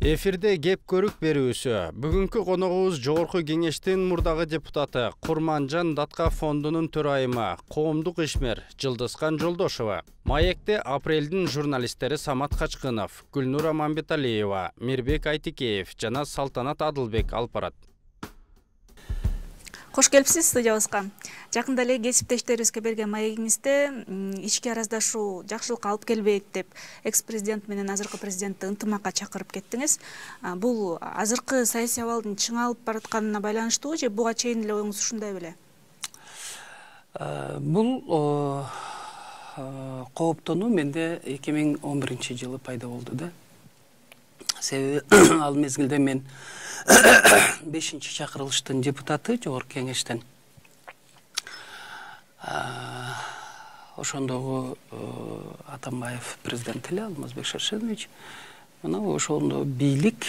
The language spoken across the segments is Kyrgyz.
Эфирде кеп көрүк берүүсү. Бүгүнкү коногубуз Жогорку Кеңештин мурдагы депутаты Курманжан Датка фондунун төрайымы, коомдук ишмер Жылдызкан Жолдошова. Маекте апрелдин журналисттери Самат Качкынов, Гүлнур Аманбеталиева, Мирбек Айтикеев жана Салтанат Адылбек алып барат. Кош келипсиз студиябызга. Жакында эле кесиптештерибизге берген маегиңизде ички араздашуу жакшылыкка алып келбейт деп экс-президент менен азыркы президентти ынтымакка чакырып кеттиңиз. Бул азыркы саясий абалдын чыңалып баратканына байланыштуубу же буга чейин эле оюңуз ушундай беле? Бул кооптонуу менде 2011-жылы пайда болду да. Себеби ал мезгилде мен 5-чакырылыштын депутаты Жогорку Кеңештен. Ошондогу Атамбаев президент эле Алмазбек Шаршенович. Мына ошондо бийлик,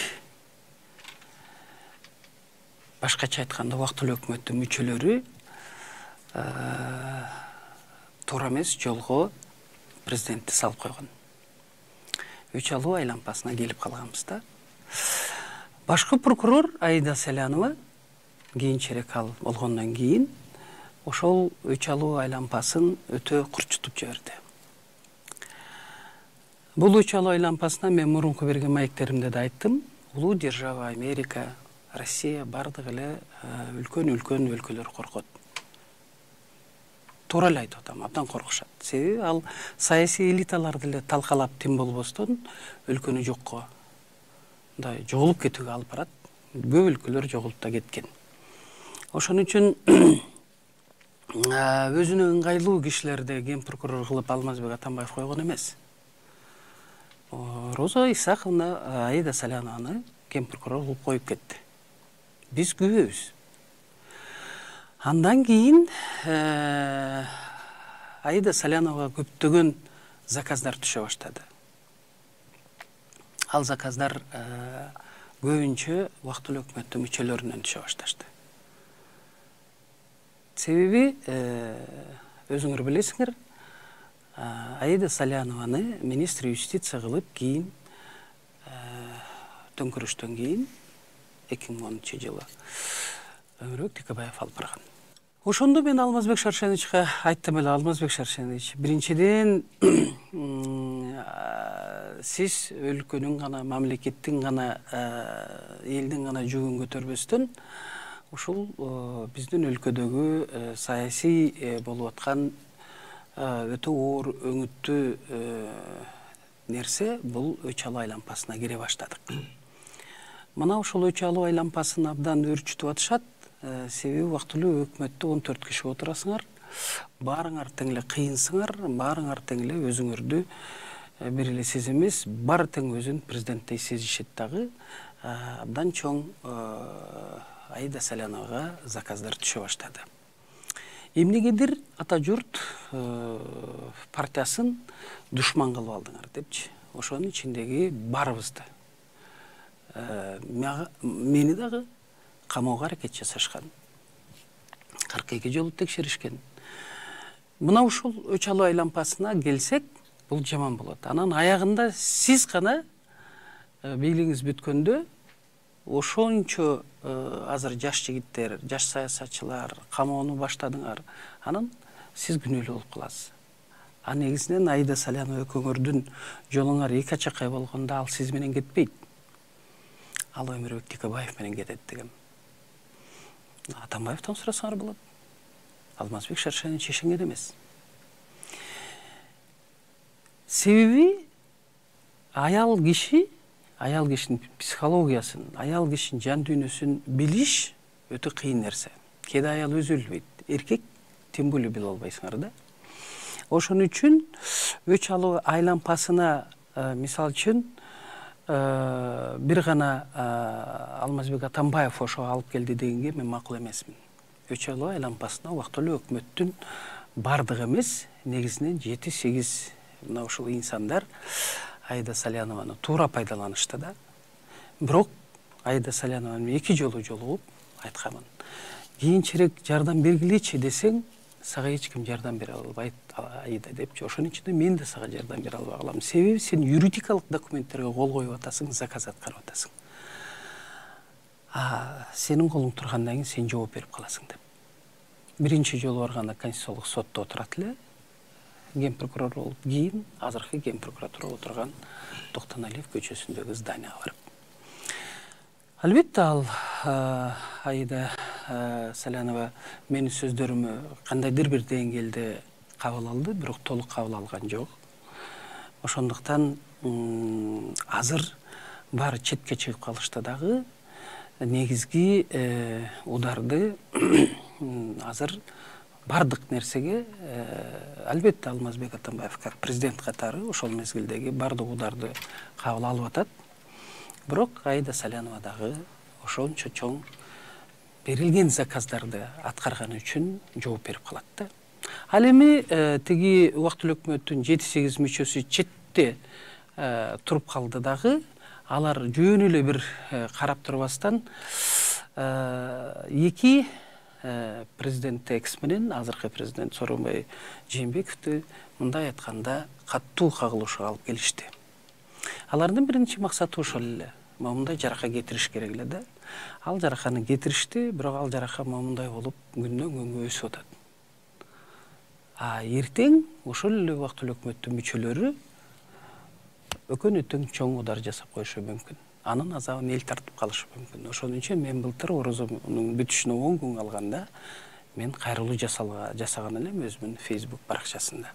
башкача айтканда убактылуу өкмөттүн мүчөлөрү туура эмес жолго президентти салып койгон. Үч алуу айлампасына келип калганбыз да. Башкы прокурор Аида Салянова кийинчерээк ал болгондон кийин ошол үч алуу айлампасын өтө курчутуп жиберди. Бул үч алуу айлампасына мен мурунку берген маектеримде да айттым. Улуу держава Америка, Россия бардыгы эле үлкөн өлкөлөр коркот. Туура эле айтып атам, абдан коркушат. Себеби ал саясий элиталарды эле талкалап тим болбостон өлкөнү жокко мындай жоголуп кетүүгө алып барат. Көп өлкөлөр жоголуп да кеткен. Ошон үчүн өзүнө ыңгайлуу кишилерди ген прокурор кылып Алмазбек Атамбаев койгон эмес. Роза Исаховна Аида Салянованы ген прокурор кылып коюп кетти. Биз күбөбүз. Андан кийин Аида Саляновага көптөгөн заказдар түшө баштады. Ал заказдар көбүнчө убактылуу өкмөттүн мүчөлөрүнөн түшө башташты. Себеби өзүңөр билесиңер, Аида Салянованы министр юстиция кылып кийин төңкөрүштөн кийин 2010-жылы Өмүрбек Текебаев алып барган. Ошондо мен Алмазбек Шаршеновичке айттым эле, Алмазбек Шаршенович, биринчиден сиз өлкөнүн гана, мамлекеттин гана, элдин гана жүгүн көтөрбөстөн ушул биздин өлкөдөгү саясий болуп аткан өтө оор өңүттүү нерсе бул үч алуу айлампасына кире баштадык. Мына ушул үч алуу айлампасын абдан өөрчүтүп атышат. Себеби убактылуу өкмөттө 14 киши отурасыңар, баарыңар тең эле кыйынсыңар, баарыңар тең эле өзүңөрдү бир эле сиз эмес, баары тең өзүн президенттей сезишет дагы. Абдан чоң Аида Саляновага заказдар түшө баштады. Эмнегедир ата журт партиясын душман кылып алдыңар депчи. Ошонун ичиндеги баарыбызды, мени дагы камоого аракет жасашкан. 42 жолу текшеришкен. Мына ушул үч алуу айлампасына келсек, бул жаман болот. Анан аягында сиз гана бийлигиңиз бүткөндө ошончо азыр жаш жигиттер, жаш саясатчылар камоону баштадыңар. Анан сиз күнөөлүү болуп каласыз. Негизинен Аида Салянова экөөңөрдүн жолуңар эки ачакай болгондо ал сиз менен кетпейт. Ал Өмүрбек Текебаев менен кетет дегем. Атамбаевден сурасаңар болот. Алмазбек Шаршенович ишенген эмес. Себеби аял кишинин психологиясын, аял кишинин жан дүйнөсүн билиш өтө кыйын нерсе. Кээде аял өзү билбейт, эркек тем более биле албайсыңар да. Ошон үчүн үч алуу айлампасына мисал үчүн бир гана Алмазбек Атамбаев ошо алып келди дегенге мен макул эмесмин. Үч алуу айлампасына убактылуу өкмөттүн бардыгы эмес, негизинен 7-8 мына ушул инсандар Аида Салянованы туура пайдаланышты да. Бирок Аида Салянованы 2 жолу жолугуп айтканмын. Кийинчерээк жардам бергилечи десең, сага эч ким жардам бере албайт Аида депчи. Ошонун ичинде мен да сага жардам бере албай калам. Себеби сен юридикалык документтерге кол коюп атасың, заказ аткарып атасың. Сенин колуң тургандан кийин сен жооп берип каласың деп. Биринчи жолу барганда Конституциялык сотто отурат эле. Ген прокурор болуп, кийин азыркы ген прокуратура отурган Токтоналиев көчөсүндөгү зданияга барып. Албетте ал Аида Салянова менин сөздөрүмө кандайдыр бир деңгээлде кабыл алды, бирок толук кабыл алган жок. Ошондуктан азыр баары четке чыгып калышта дагы негизги ударды азыр бардык нерсеге албетте Алмазбек Атамбаев как президент катары ошол мезгилдеги бардык ударды кабыл алып атат. Бирок Аида Салянова дагы ошончо чоң берилген заказдарды аткарганы үчүн жооп берип калат да. Ал эми тиги убактылуу өкмөттүн 7-8 мүчөсү четте туруп калды дагы. Алар жөн эле бир карап турбастан эки президент экс менен азыркы президент Сооронбай Жээнбековду мындай айтканда катуу кагылышууга алып келишти. Алардын биринчи максаты ошол эле. Момундай жарака кетириш керек эле да. Ал жараканы кетиришти, бирок ал жарака момундай болуп күндөн күнгө өсүп атат. Эртең ошол эле убактылуу өкмөттүн мүчөлөрү өкөнөтөң чоң удар жасап коюшу мүмкүн. Анын азабын эл тартып калышы мүмкүн. Ошон үчүн мен былтыр Орозонун бүтүшүнө 10 күн калганда мен кайрылуу жасаган элем өзүмдүн Facebook баракчасында.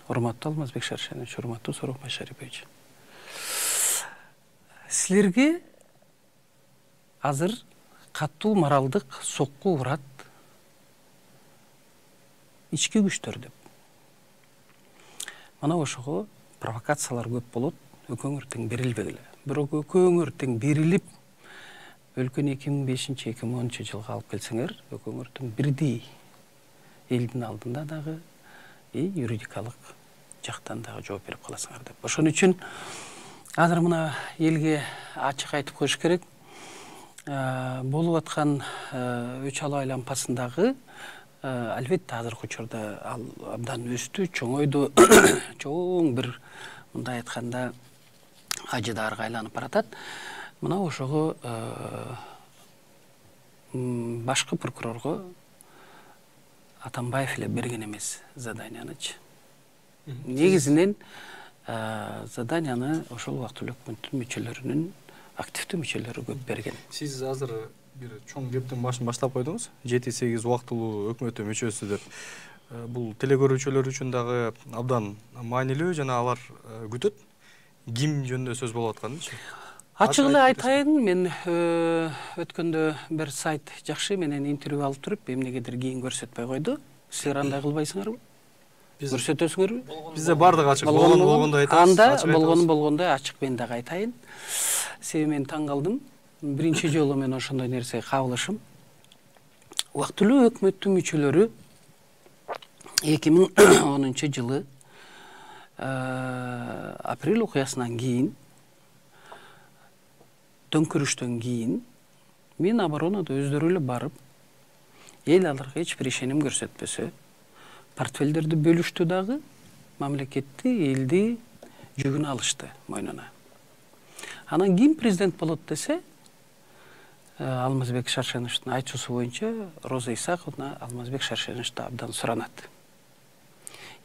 Урматтуу Алмазбек Шаршенович, урматтуу Сооронбай Шарипович. Силерге азыр катуу моралдык сокку урат ички күчтөр деп. Мына ошого провокациялар көп болот, өкөңөр тең берилбегиле. Бирок өкөңөр тең берилип, өлкөнү 2005-2010 жылга алып келсеңер, өкөңөр тең бирдей элдин алдында дагы юридикалык жактан дагы жооп берип каласыңар деп. Ошон үчүн азыр мына элге ачык айтып коюш керек. Болуп аткан Өч-Ала аймагындагы албетте азыркы учурда ал абдан өстү, чоңойду, чоң бир мындай айтканда ажыдаарга айланып баратат. Мына ошого башкы прокурорго Атамбаев эле берген эмес заданияны. Негизинен заданияны ошол убактылуу өкмөттүн мүчөлөрүнүн активдүү мүчөлөрү көп берген. Сиз азыр бир чоң кептин башын баштап койдуңуз. 7-8 убактылуу өкмөттүн мүчөсү деп. Бул телекөрүүчүлөр үчүн дагы абдан маанилүү жана алар күтөт. Ким жөнүндө сөз болуп атканычы? Ачык эле айтайын, мен өткөндө бир сайт жакшы менен интервью алып туруп, эмнегедир кийин көрсөтпөй койду. Силер андай кылбайсыңарбы? Көрсөтөсүңөрбү? Бизде бардыгы ачык. Болгондо айтабыз. Анда болгондой ачык мен дагы айтайын. Себеби мен таң калдым. Биринчи жолу мен ошондой нерсеге кабылышым. Убактылуу өкмөттүн мүчөлөрү 2010 жылы апрель окуясынан кийин, төңкөрүштөн кийин Миноборонода өздөрү эле барып, эл аларга эч бир ишеним көрсөтпөсө, портфелдерди бөлүштү дагы, мамлекетти, элди жүгүн алышты мойнуна. Анан ким президент болот десе, Алмазбек Шаршеновичтин айтуусу боюнча Роза Исаковна Алмазбек Шаршеновичти абдан суранат.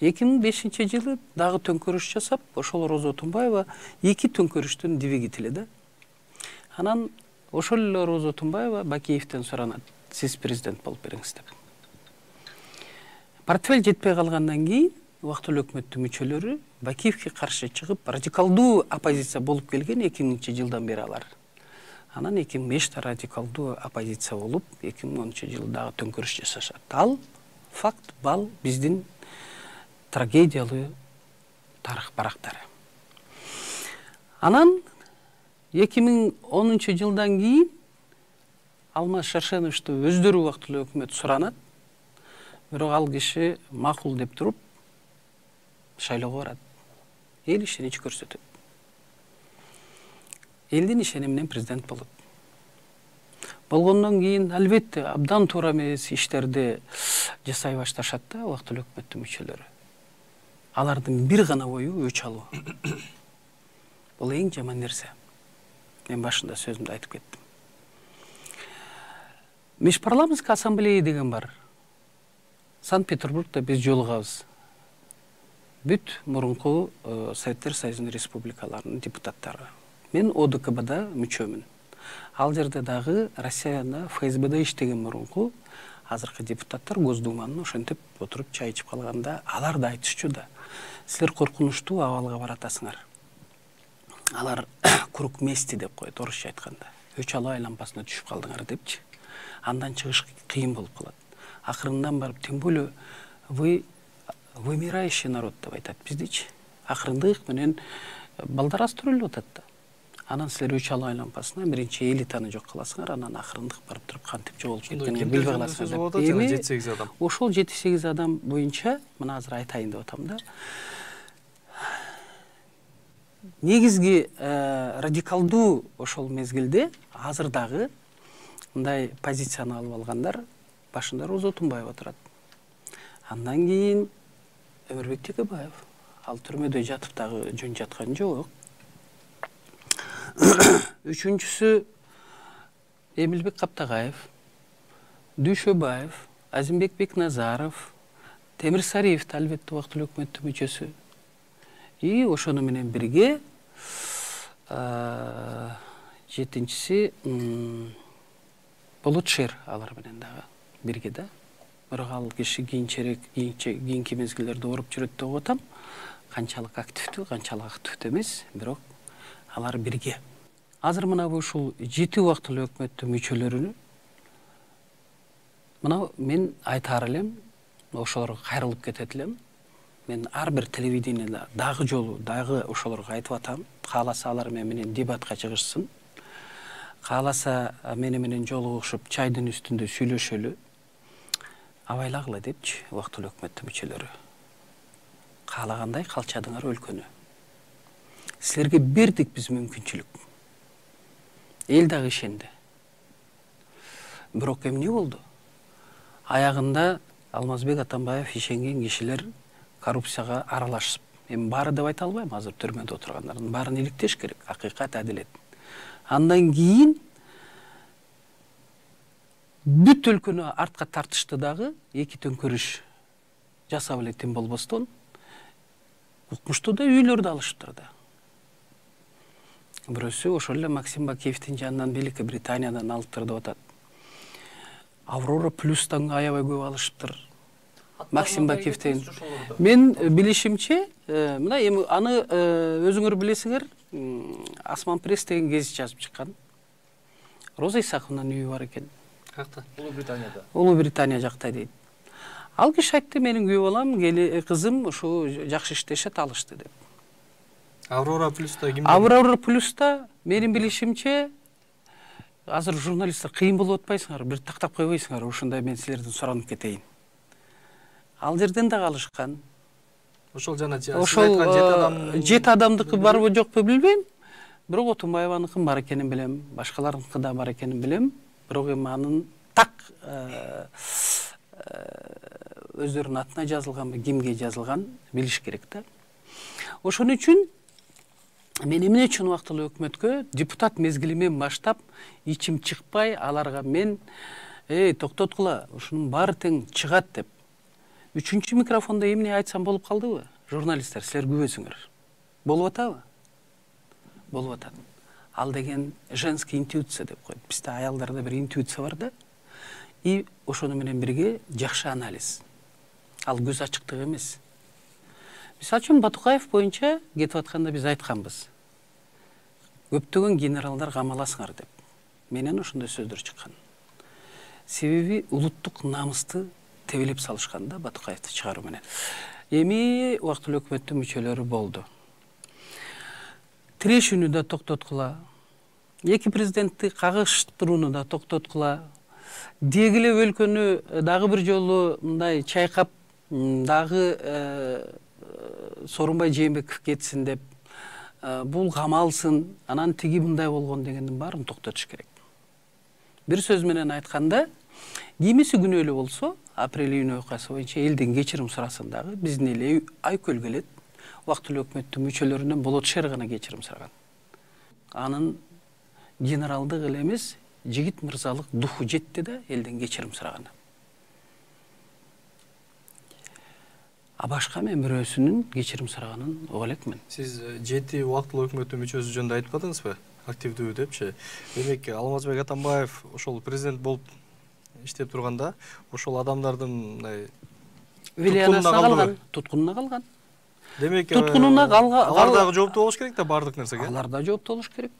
2005 жылы дагы төңкөрүш жасап, ошол Роза Отунбаева эки төңкөрүштүн двигатели да. Анан ошол эле Роза Отунбаева Бакиевден суранат, сиз президент болуп бериңиз деп. Портфель жетпей калгандан кийин убактылуу өкмөттүн мүчөлөрү Бакиевге каршы чыгып, радикалдуу оппозиция болуп келген 2000 жылдан бери алар. Анан 2005-те радикалдуу оппозиция болуп, 2010 жылы дагы төңкөрүш жасашат. Ал факт, бал биздин трагедиялуу тарых барактары. Анан 2010 жылдан кийин Алмаз Шаршеновичти өздөрү убактылуу өкмөт суранат. Бирок ал киши макул деп туруп шайлоого барат. Эл ишенич көрсөтөт. Элдин ишениминен президент болот. болгондон кийин албетте абдан туура эмес иштерди жасай башташат да убактылуу өкмөттүн мүчөлөрү. Алардын бир гана ою өч алуу. Бул эң жаман нерсе. Мен башында сөзүмдү айтып кеттим. Межпарламенттик ассамблея деген бар. Санкт-Петербургда биз жолугабыз. Бүт мурунку Советтер Союзунун республикаларынын депутаттары. Мен ОДКБда мүчөмүн. Ал жерде дагы Россияда ФСБда иштеген мурунку азыркы депутаттар Госдуманын ошентип отуруп чай ичип калганда алар да айтышчу да. Силер коркунучтуу абалга баратасыңар. Алар круг мести деп коет орусча айтканда. Өч алуу лампасына түшүп калдыңар депчи. Андан чыгыш кыйын болуп калат. Акырындан барып, тем более вы вымирающий народ деп айтат биздичи. Акырындык менен балдар астырылып атат да. Анан силер өч алуу лампасына биринчи элитаны жок кыласыңар, анан акырындык барып туруп кантип жоголуп кеткенин билбей каласыңар деп. Эми 7-8 адам. Ошол 7-8 адам боюнча мына азыр айтайын деп атам да. Негизги радикалдуу ошол мезгилде азыр дагы мындай позицияны алып алгандар башында Роза Отунбаева турат. Андан кийин Өмүрбек Текебаев. Ал түрмөдө жатып дагы жөн жаткан жок. Үчүнчүсү Эмилбек Каптагаев, Дүйшөбаев, Азимбек Бекназаров, Темир Сариев албетте убактылуу өкмөттүн мүчөсү. И ошону менен бирге жетинчиси Болотшер алар менен дагы бирге да. Бирок ал киши кийинки мезгилдерде ооруп жүрөт деп атам. Канчалык активдүү, канчалык активдүү эмес, бирок алар бирге. Азыр мына ушул 7 убактылуу өкмөттүн мүчөлөрүнү мына мен айтаар элем, ошолорго кайрылып кетет элем. Мен ар бир телевидениеде дагы жолу дагы ошолорго айтып атам. Кааласа алар менен дебатка чыгышсын. Кааласа менен жолугушуп чайдын үстүндө сүйлөшөлү. Абайлагыла депчи убактылуу өкмөттүн мүчөлөрү. Каалагандай калчадыңар өлкөнү. Силерге бердик биз мүмкүнчүлүк. Эл дагы ишенди. Бирок эмне болду? Аягында Алмазбек Атамбаев ишенген кишилер коррупцияга аралашып, эми баары деп айта албайм, азыр түрмөдө отургандардын баарын иликтеш керек, акыйкат, адилет. Андан кийин бүт өлкөнү артка тартышты дагы, эки төңкөрүш жасап эле тим болбостон, укмуштуу да үйлөрдү алышыптыр да. Бирөөсү ошол эле Максим Бакиевдин жанынан Великий Британиядан алыптыр деп атат. Аврора Плюстан аябай көп алышыптыр. Максим Бакиевден. Мен билишимче, мына эми аны өзүңөр билесиңер, Асман пресс деген гезит жазып чыккан. Роза Исаковнун үйү бар экен. Какта? Улуу Британияда. Улуу Британия жакта дейт. Ал киши айтты, менин күйөө балам, кызым ушу жакшы иштешет, алышты деп. Аврора Плюста ким? Аврора Плюста менин билишимче азыр журналисттер кыйын болуп атпайсыңар, бир тактап койбойсуңар, ушундай мен силерден суранып кетейин. Ал жерден да калышкан. Ошол жана ошол 7 адамдыкы барбы жокпу билбейм. Бирок Отунбаеваныкы бар экенин билем, башкаларыныкы да бар экенин билем. Бирок эми анын так өздөрүнүн атына жазылганбы, кимге жазылган билиш керек да. Ошон үчүн мен эмне үчүн убактылуу өкмөткө депутат мезгилимен баштап ичим чыкпай, аларга мен токтоткула, ушунун баары тең чыгат деп. Үчүнчү микрофондо эмне айтсам болуп калдыбы? Журналисттер, силер күбөсүңөр. Болуп атабы? Болуп атат. Ал деген женский интуиция деп коет. Бизде аялдарда бир интуиция бар да. И ошону менен бирге жакшы анализ. Ал көз ачыктык эмес. Мисалы үчүн Батукаев боюнча кетип атканда биз айтканбыз. Көптөгөн генералдар камаласыңар деп. Менен ошондой сөздөр чыккан. Себеби улуттук намысты тебелеп салышканда Батукаевди чыгаруу менен. Эми убактылуу өкмөттүн мүчөлөрү болду. Тирешүүнү да токтоткула. Эки президентти кагыштырууну да токтоткула. Дегиле өлкөнү дагы бир жолу мындай чайкап дагы Сооронбай Жээнбеков кетсин деп, бул камалсын, анан тиги мындай болгон дегендин баарын токтотуш керек. Бир сөз менен айтканда, кимиси күнөөлүү болсо, апрель июнь окуясы боюнча элден кечирим сурасын дагы, биздин эл Айкөл келет, убактылуу өкмөттүн мүчөлөрүнөн Болот шер гана кечирим сураган. Анын генералдык эле эмес, жигит мырзалык духу жетти да элден кечирим сураган. А башка мен бирөөсүнүн кечирим сураганын уга элекмин. Сиз 7 убактылуу өкмөттүн мүчөсү жөнүндө айтпадыңызбы? Активдүү депчи. Демек Алмазбек Атамбаев ошол президент болуп иштеп турганда, ошол адамдардын мындай туткунуна калган. Демек туткунуна калган. Алар дагы жооптуу болуш керек да бардык нерсеге. Алар да жооптуу болуш керек.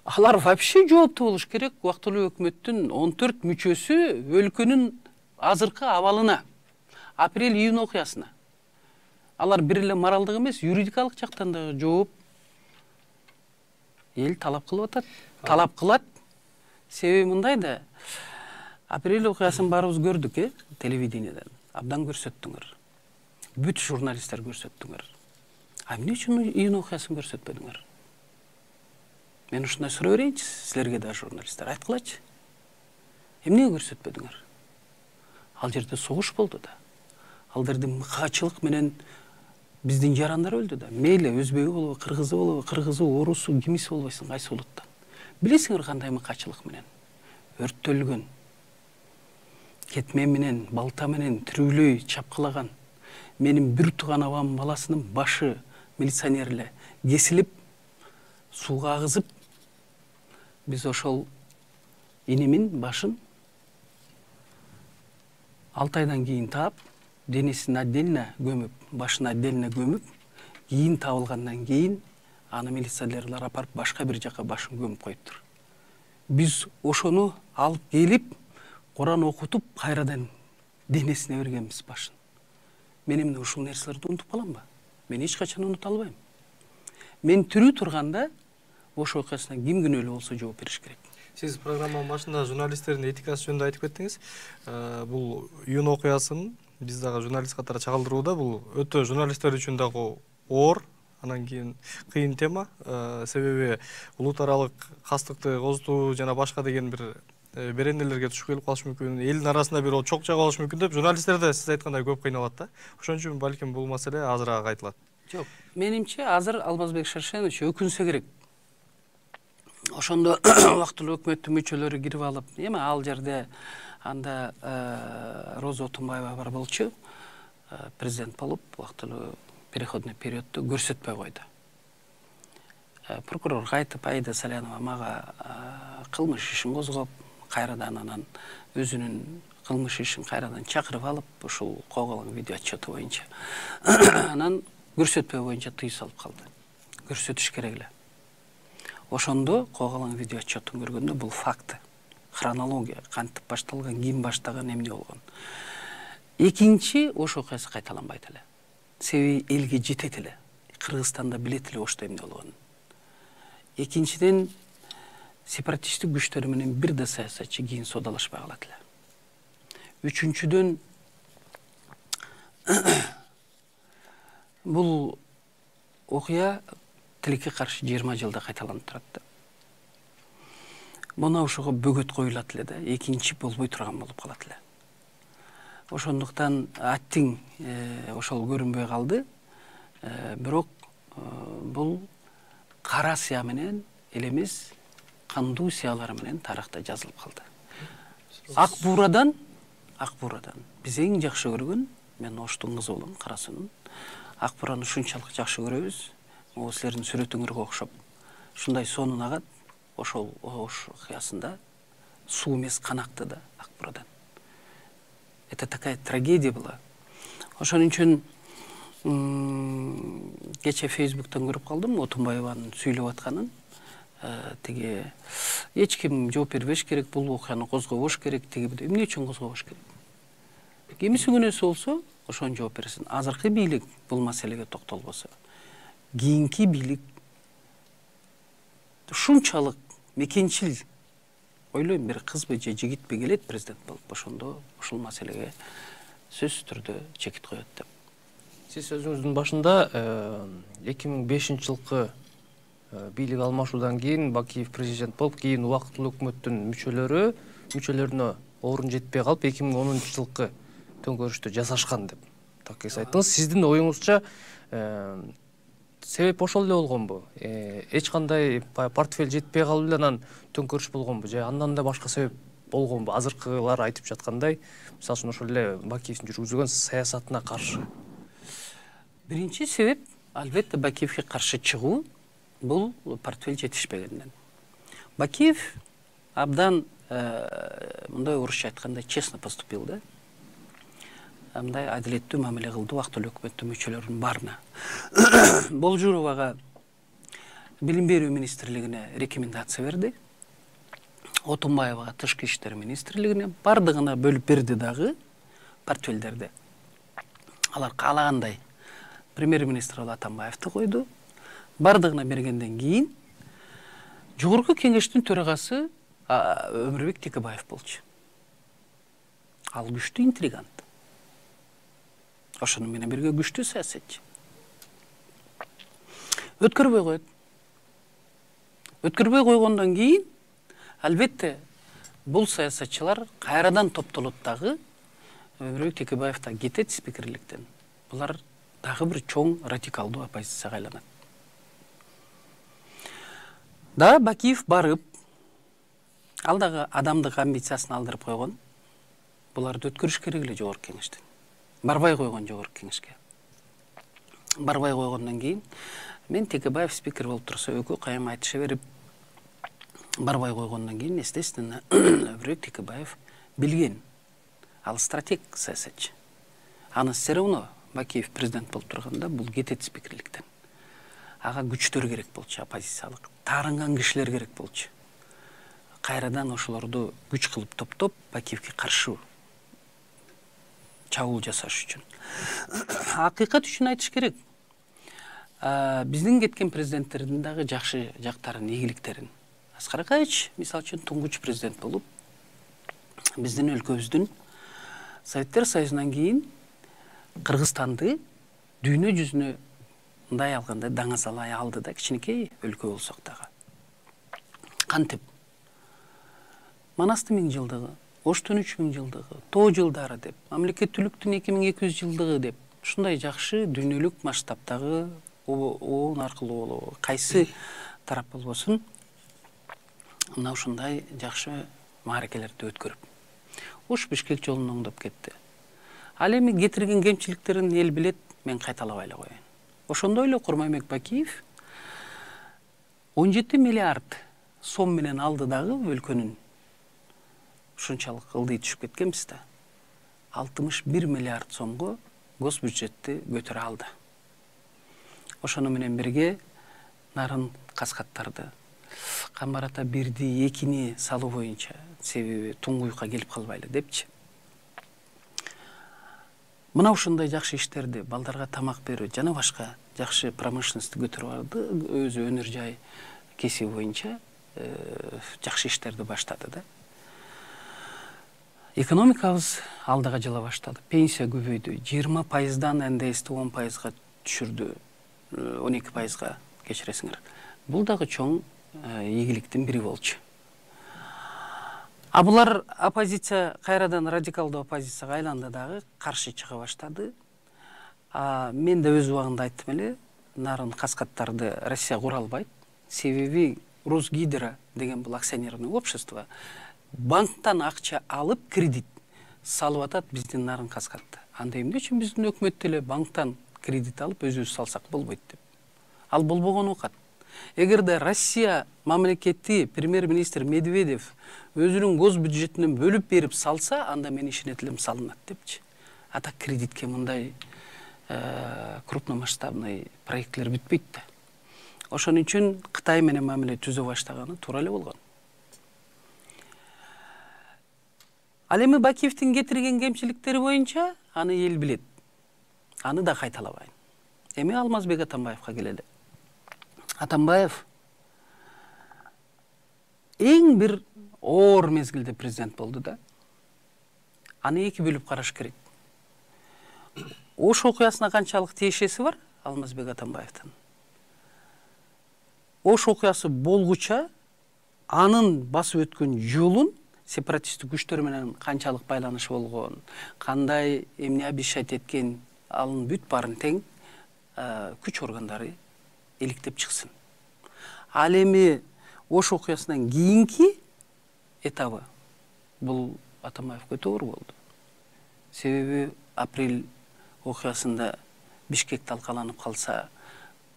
Алар вообще жооптуу болуш керек. Убактылуу өкмөттүн 14 мүчөсү өлкөнүн азыркы абалына, апрель-июнь окуясына. Алар бир эле моралдык эмес, юридикалык жактан да жооп эл талап кылып атат. Талап кылат. Себеби мындай да, апрель окуясын баарыбыз көрдүк, телевидениеден. Абдан көрсөттүңөр. Бүт журналисттер көрсөттүңөр. А эмне үчүн июнь окуясын көрсөтпөдүңөр? Мен ушундай суроо берейинчи силерге да, журналисттер, айткылачы. Эмнеге көрсөтпөдүңөр? Ал жерде согуш болду да. Ал жерде мыкаачылык менен биздин жарандар өлдү да. Мейли өзбеги болобу, кыргызы, орусу, кимиси болбойсун, кайсы улуттан. Билесиңер кандай мыкаачылык менен? Өрттөлгөн. Кетмен менен, балта менен түрүлөй чапкылаган. Менин бир тууган абам баласынын башы милиционерле кесилип, сууга агызып, биз ошол инемин башын 6 айдан кийин таап, денесин отдельно көмүп, башын отдельно көмүп, кийин табылгандан кийин аны милиционерлер апарып башка бир жака башын көмүп коюптур. Биз ошону алып келип, Куран окутуп, кайрадан денесине бергенбиз башын. Мен эмне ушул нерселерди унутуп каламбы? Мен эч качан унута албайм. Мен тирүү турганда ошол окуясына ким күнөөлүү болсо жооп бериш керек. Сиз программанын башында журналисттердин этикасы жөнүндө айтып кеттиңиз. Бул июнь окуясын биз дагы журналист катары чагылдырууда, бул өтө журналисттер үчүн дагы оор, анан кийин кыйын тема. Себеби улут аралык кастыкты козутуу жана башка деген бир беренелерге түшүп келип калышы мүмкүн, элдин арасында бир чок чагып алышы мүмкүн деп журналисттер да сиз айткандай көп кыйналат да. Ошон үчүн балким бул маселе азыраак айтылат. Жок, менимче азыр Алмазбек Шаршенович өкүнсө керек. Ошондо убактылуу өкмөттүн мүчөлөрү кирип алып, эми ал жерде анда Роза Отунбаева бар болчу, президент болуп, убактылуу переходный периодду көрсөтпөй койду. Прокурор кайтып, Аида Салянова мага кылмыш ишин козгоп, кайрадан анан өзүнүн кылмыш ишин кайрадан чакырып алып, ушул Коголоң видео отчету боюнча анан көрсөтпөө боюнча тыюу салып калды. Көрсөтүш керек эле. Ошондо Коголоң видео отчетун көргөндө бул факты, хронология, кантип башталган, ким баштаган, эмне болгон. Экинчи ошол окуясы кайталанбайт эле. Себеби элге жетет эле. Кыргызстанда билет эле ошто эмне болгонун. Экинчиден сепаратисттик күчтөр менен бир да саясатчы кийин содалашпай калат эле. Үчүнчүдөн бул окуя тилекке каршы 20 жылда кайталанып турат да. Мына ошого бөгөт коюлат эле да, экинчи болбой турган болуп калат эле. Ошондуктан аттиң ошол көрүнбөй калды. Бирок бул кара сыя менен эле эмес, кандуу сыялар менен тарыхта жазылып калды. Ак бурадан биз эң жакшы көргөн, мен Оштун кызы болом, Карасунун. Ак бураны ушунчалык жакшы көрөбүз. Могу силердин сүрөтүңөргө окшоп, ушундай сонун агат. Ошол Ош окуясында суу эмес, кан акты да ак бурадан. Это такая трагедия была. Ошон үчүн кече Фейсбуктан көрүп калдым Отунбаеванын сүйлөп атканын. Тиги эч ким жооп бербеш керек, бул окуяны козгобош керек, тиги эмне үчүн козгобош керек? Кимиси күнөөсү болсо, ошону жооп берсин. Азыркы бийлик бул маселеге токтолбосо, кийинки бийлик ушунчалык мекенчил, ойлойм, бир кызбы же жигитпи келет президент болуп, ошондо ушул маселеге сөзсүз түрдө чекит коет деп. Сиз сөзүңүздүн башында 2005 жылкы бийлик алмашуудан кийин Бакиев президент болуп, кийин убактылуу өкмөттүн мүчөлөрү мүчөлөрүнө орун жетпей калып 2010-жылкы төңкөрүштү жасашкан деп так айттыңыз. Сиздин оюңузча себеп ошол эле болгонбу? Эч кандай портфель жетпей калып эле анан төңкөрүш болгонбу же андан да башка себеп болгонбу? Азыркылар айтып жаткандай, мисалы үчүн ошол эле Бакиевдин жүргүзгөн саясатына каршы. Биринчи себеп албетте Бакиевге каршы чыгуу бул портфель жетишпегенден. Бакиев абдан мындай орусча айтканда честно поступил да. Мындай адилеттүү мамиле кылды убактылуу өкмөттүн мүчөлөрүнүн баарына. Болжуровага билим берүү министрлигине рекомендация берди. Отунбаевага тышкы иштер министрлигине бардыгына бөлүп берди дагы портфелдерди. Алар каалагандай премьер-министр Атамбаевди койду. Бардыгына бергенден кийин жогорку кеңештин төрагасы Өмүрбек Текебаев болчу. Ал күчтүү интригант. Ошону менен бирге күчтүү саясатчы. Өткөрбөй койот. Өткөрбөй койгондон кийин албетте бул саясатчылар кайрадан топтолот дагы. Өмүрбек Текебаев да кетет спикерликтен. Булар дагы бир чоң радикалдуу оппозицияга айланат. Да Бакиев барып, ал дагы адамдык амбициясын алдырып койгон. Буларды өткөрүш керек эле жогорку кеңештен. Барбай койгон жогорку кеңешке. Барбай койгондон кийин мен Текебаев спикер болуп турса өкө кайым айтыша берип барбай койгондон кийин естественно Өмүрбек Текебаев билген. Ал стратег саясатчы. Аны все равно Бакиев президент болуп турганда бул кетет спикерликтен. Ага күчтөр керек болчу, оппозициялык, таарынган кишилер керек болчу. Кайрадан ошолорду күч кылып топтоп Бакиевге каршы чабуул жасаш үчүн. Акыйкат үчүн айтыш керек. Биздин кеткен президенттердин дагы жакшы жактарын, ийгиликтерин. Аскар Акаевич, мисалы үчүн, туңгуч президент болуп, биздин өлкөбүздүн Советтер Союзунан кийин Кыргызстанды дүйнө жүзүнө мындай алганда даңазалай алды да, кичинекей өлкө болсок дагы. Кантип? Манастын 1000 жылдыгы, Оштун 3000 жылдыгы, Тоо жылдары деп, мамлекеттүүлүктүн 2200 жылдыгы деп, ушундай жакшы дүйнөлүк масштабтагы оон аркылуу болобу, кайсы тарап болбосун, мына ушундай жакшы мааракелерди өткөрүп, Ош Бишкек жолун оңдоп кетти. Ал эми кетирген кемчиликтерин эл билет, мен кайталабай эле коеюн. Ошондой эле Курманбек Бакиев 17 миллиард сом менен алды дагы өлкөнүн ушунчалык ылдый түшүп кеткенбиз да. 61 миллиард сомго гос бюджетти көтөрө алды. Ошону менен бирге нарын каскаттарды Камбар ата 1-ди 2-ни салуу боюнча, себеби Туңгуюкка келип калбайлы депчи. Мына ушундай жакшы иштерди, балдарга тамак берүү жана башка жакшы промышленностьти көтөрүп алды, өзү өнөр жай кесиби боюнча жакшы иштерди баштады да. Экономикабыз алдыга жыла баштады. Пенсия көбөйдү. 20%дан НДСти 10%га түшүрдү. 12%га кечиресиңер. Бул дагы чоң ийгиликтин бири болчу. Булар оппозиция кайрадан радикалдуу оппозицияга айланды дагы, каршы чыга баштады. Мен да өз убагында айттым эле, нарын каскаттарды Россия кура албайт. Себеби Росгидро деген бул акционерное общество банктан акча алып кредит салып атат биздин нарын каскатты. Анда эмне үчүн биздин өкмөт деле банктан кредит алып өзүбүз салсак болбойт деп. Ал болбогон окат. Эгерде Россия мамлекети премьер-министр Медведев өзүнүн гос бюджетинен бөлүп берип салса, анда мен ишенетилим салынат депчи. Ата кредитке мындай крупномасштабный проектлер бүтпөйт да. Ошон үчүн Кытай менен мамиле түзө баштаганы туура эле болгон. Ал эми Бакиевдин кетирген кемчиликтери боюнча аны эл билет. Аны да кайталабайын. Эми Алмазбек Атамбаевга келели. Атамбаев эң бир оор мезгилде президент болду да. Аны эки бөлүп караш керек. Ош окуясына канчалык тиешеси бар Алмазбек Атамбаевдин? Ош окуясы болгуча анын басып өткөн жолун сепаратисттик күчтөр менен канчалык байланышы болгон, кандай эмне обещать эткен, анын бүт баарын тең күч органдары иликтеп чыксын. Ал эми Ош окуясынан кийинки этабы бул Атамбаевге өтө оор болду. Себеби апрель окуясында Бишкек талкаланып калса,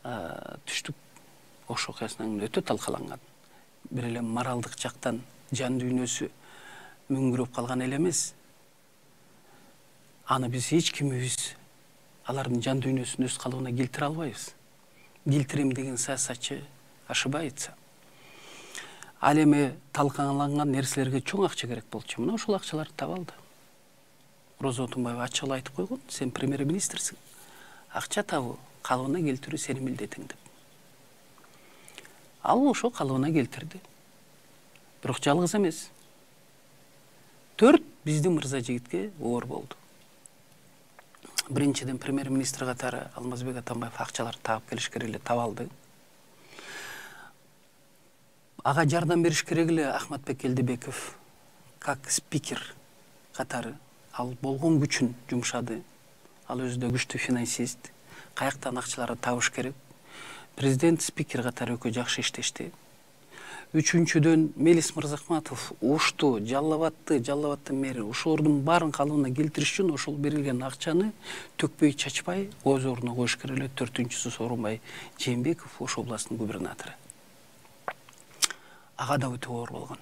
түштүк Ош окуясынан өтө талкаланган. Бир эле моралдык жактан жан дүйнөсү мүңгүрөп калган эле эмес. Аны биз эч кимибиз алардын жан дүйнөсүн өз калыбына келтире албайбыз. Келтирем деген саясатчы ошибается. Ал эми талкаланган нерселерге чоң акча керек болчу. Мына ошол акчаларды таба алды. Роза Отунбаева ачык эле айтып койгон, сен премьер-министрсиң. Акча табуу, калыбына келтирүү сенин милдетиң деп. Ал ошо калыбына келтирди. Бирок жалгыз эмес. 4 биздин мырза жигитке оор болду. Биринчиден премьер-министр катары Алмазбек Атамбаев акчаларды таап келиш керек эле, таба алды. Ага жардам бериш керек эле Ахматбек Элдибеков как спикер катары ал болгон күчүн жумшады. Ал өзү да күчтүү финансист. Каяктан акчаларды табыш керек. Президент спикер катары өкө жакшы иштешти. Үчүнчүдөн Мелис Мырзахматов Ошту, Жалал-Абадтын мэри ошолордун баарын калыбына келтириш үчүн ошол берилген акчаны төкпөй чачпай өз ордуна коюш керек эле. 4-чүсү Сооронбай Жээнбеков Ош областынын губернатору. Ага да өтө оор болгон.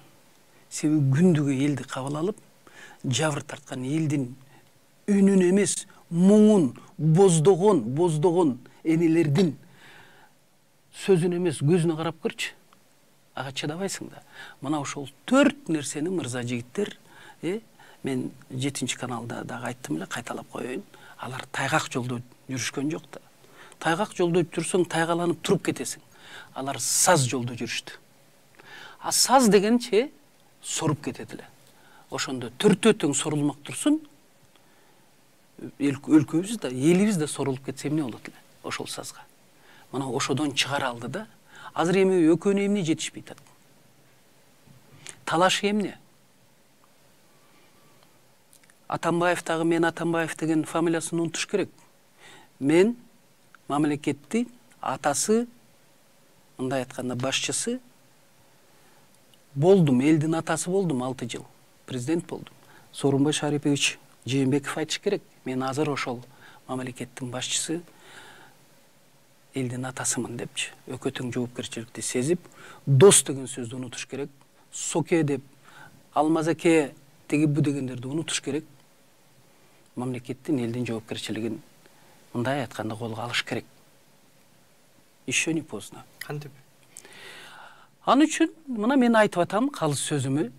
Себеби күндүгү элди кабыл алып, жабыр тарткан элдин үнүн эмес, муңун боздогон энелердин сөзүн эмес, көзүнө карап көрчү. Ага чыдабайсың да. Мына ошол 4 нерсени мырза жигиттер, мен 7-каналда дагы айттым эле, кайталап коеюн. Алар тайгак жолдо жүрүшкөн жок да. Тайгак жолдо жүрсөң тайгаланып туруп кетесиң. Алар саз жолдо жүрүштү. А саз дегенче соруп кетет эле. Ошондо төртөө сорулмак турсун, өлкөбүз да, элибиз да сорулуп кетсе эмне болот эле ошол сазга. Мына ошодон чыгара алды да. Азыр эми экөөнө эмне жетишпей атат? Талашы эмне? Атамбаев дагы мен Атамбаев деген фамилиясын унутуш керек. Мен мамлекетти атасы, мындай айтканда башчысы болдум, элдин атасы болдум 6 жыл. Президент болдум. Сооронбай Шарипович Жээнбеков айтыш керек. Мен азыр ошол мамлекеттин башчысы, элдин атасымын депчи. Өкө тең жоопкерчиликти сезип, дос деген сөздү унутуш керек. Соке деп, Алмазаке теги бу дегендерди унутуш керек. Мамлекеттин, элдин жоопкерчилигин мындай айтканда колго алыш керек. Еще не поздно. Кантип? Аны үчүн мына мен айтып атам, калыс сөзүмө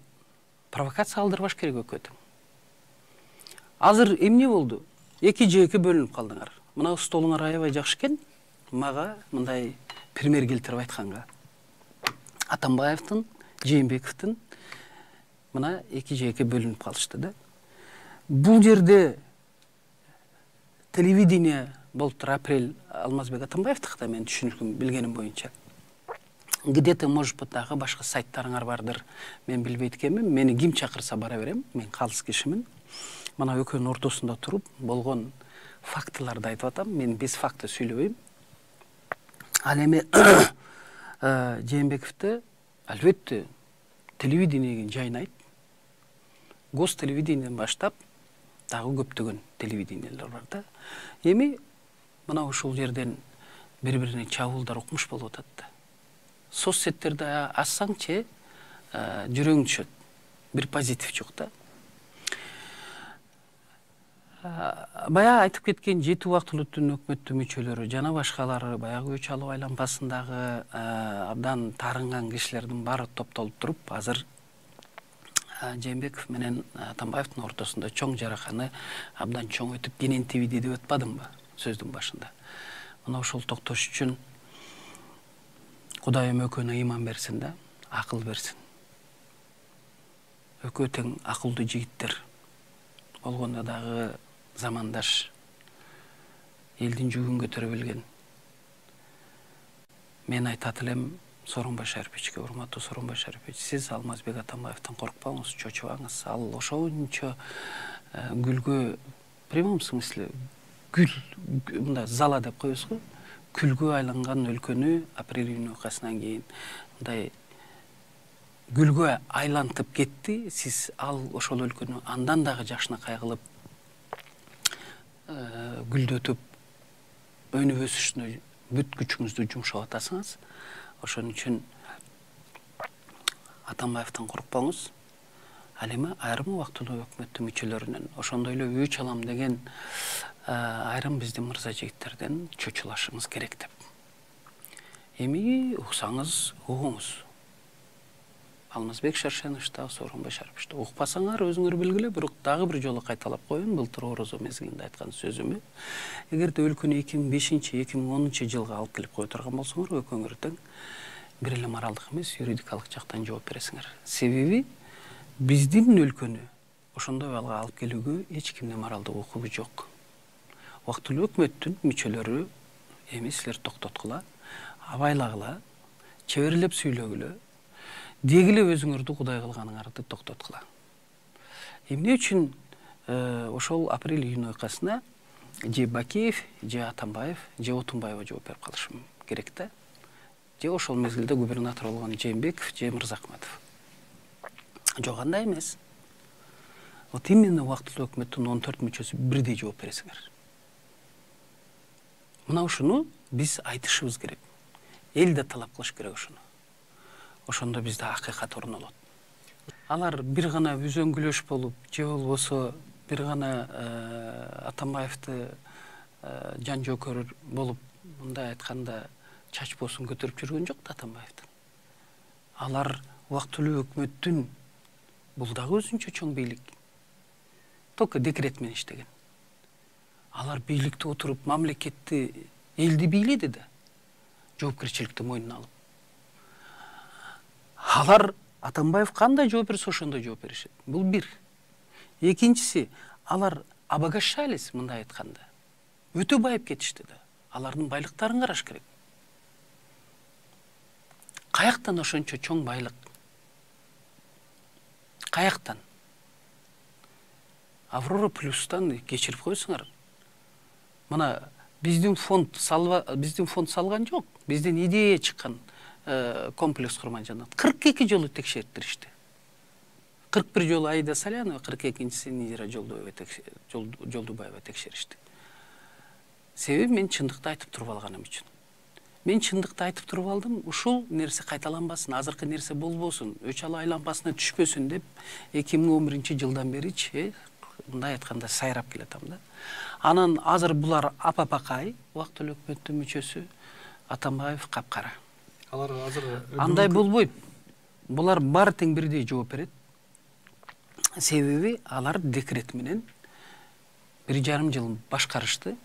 провокация алдырбаш керек өкө тең. Азыр эмне болду? 2 жээкке бөлүнүп калдыңар. Мына столуңар аябай жакшы экен. Мага мындай пример келтирип айтканга. Атамбаевдин, Жээнбековдун мына 2 жээкке бөлүнүп калышты да. Бул жерде телевидение болуптур, апрель Алмазбек Атамбаевдики да мен түшүнүшүм билгеним боюнча. Где-то, может быть, дагы башка сайттарыңар бардыр. Мен билбейт экенмин. Мени ким чакырса бара берем. Мен калыс кишимин. Мына экөөнүн ортосунда туруп, болгон фактыларды айтып атам. Мен без факты сүйлөбөйм. Ал эми Жээнбековду албетте телевидениеге жайнайт. Гостелевидениеден баштап дагы көптөгөн телевидениелер бар да. Эми мына ушул жерден бири-бирине чабуулдар укмуш болуп атат да. Соцсеттерди ачсаңчы жүрөң түшөт. Бир позитив жок да. Бая айтып кеткен 7 убактылуу түн өкмөттүн мүчөлөрү жана башкалары баягы өч алуу айлампасындагы абдан таарынган кишилердин баары топтолуп туруп, азыр Жээнбеков менен Атамбаевдин ортосунда чоң жараканы абдан чоң өтүп кенен тебиди деп атпадымбы сөздүн башында. Мына ошол токтош үчүн Кудайым экөөнө ыйман берсин да, акыл берсин. Экөө тең акылдуу жигиттер болгондо дагы замандаш, элдин жүгүн көтөрө билген. Мен айтат элем, Сооронбай Шариповичке, урматтуу Сооронбай Шарипович, сиз Алмазбек Атамбаевден коркпоңуз, чочубаңыз. Ал ошончо гүлгө, в прямом смысле, гүл, мындай зала деп коебузго, күлгө айланган өлкөнү апрель июнь окуясынан кийин мындай гүлгө айлантып кетти. Сиз ал ошол өлкөнү андан дагы жакшынакай кылып гүлдөтүп өнүп өсүшүнө бүт күчүңүздү жумшап атасыңыз. Ошон үчүн Атамбаевден коркпоңуз. Ал эми айрым убактылуу өкмөттүн мүчөлөрүнөн, ошондой эле өч алам деген айрым биздин мырза жигиттерден чочулашыңыз керек деп. Эми уксаңыз угуңуз. Алмазбек Шаршенович да, Сооронбай Шарипович да. Укпасаңар өзүңөр белгиле, бирок дагы бир жолу кайталап коеюн былтыр орозо мезгилинде айткан сөзүмү. Эгерде өлкөнү 2005-2010 жылга алып келип кое турган болсоңор, экөөңөр тең бир эле моралдык эмес, юридикалык жактан жооп бересиңер. Себеби биздин өлкөнү ошондой балга алып келүүгө эч кимдин моралдык укугу жок. Убактылуу өкмөттүн мүчөлөрү эми силер токтоткула, абайлагыла, чеберлеп сүйлөгүлө, дегиле өзүңөрдү кудай кылганыңарды токтоткула. Эмне үчүн ошол апрель июнь окуясына же Бакеев, же Атамбаев, же Отунбаева жооп берип калышы керек да. Же ошол мезгилде губернатор болгон Жээнбеков, же Мырзахматов. Жок, андай эмес. Вот именно убактылуу өкмөттүн 14 мүчөсү бирдей жооп бересиңер. Мына ушуну биз айтышыбыз керек. Эл да талап кылыш керек ушуну. Ошондо бизде акыйкат орнолот. Алар бир гана үзөңгүлөш болуп, же болбосо бир гана Атамбаевди жан жөкөр болуп, мындай айтканда чачпосун көтөрүп жүргөн жок да Атамбаевдин. Алар убактылуу өкмөттүн, бул дагы өзүнчө чоң бийлик. Только декрет менен иштеген. Алар бийликте отуруп, мамлекетти, элди бийледи да, жоопкерчиликти мойнуна алып. Алар Атамбаев кандай жооп берсе, ошондой жооп беришет. Бул бир. Экинчиси, алар обогащались, мындай айтканда. Өтө байып кетишти да. Алардын байлыктарын караш керек. Каяктан ошончо чоң байлык? Каяктан? Аврора плюстан кечирип койсуңар. Мына биздин фонд салган жок. Биздин идея чыккан комплекс курман жанат. 42 жолу текшертиришти. 41 жолу Аида Салянова, 42-нчиси Низира Жолдубаева текшеришти. Себеби мен чындыкты айтып туруп алганым үчүн. Мен чындыкты айтып туруп алдым, ушул нерсе кайталанбасын, азыркы нерсе болбосун, өч ала айланбасына түшпөсүн деп 2011-жылдан бери мындай айтканда сайрап келатам да. Анан азыр булар апапакай, убактылуу өкмөттүн мүчөсү, Атамбаев капкара. Алар азыр андай болбойт. Булар баары тең бирдей жооп берет. Себеби алар декрет менен 1,5 жыл башкарышты.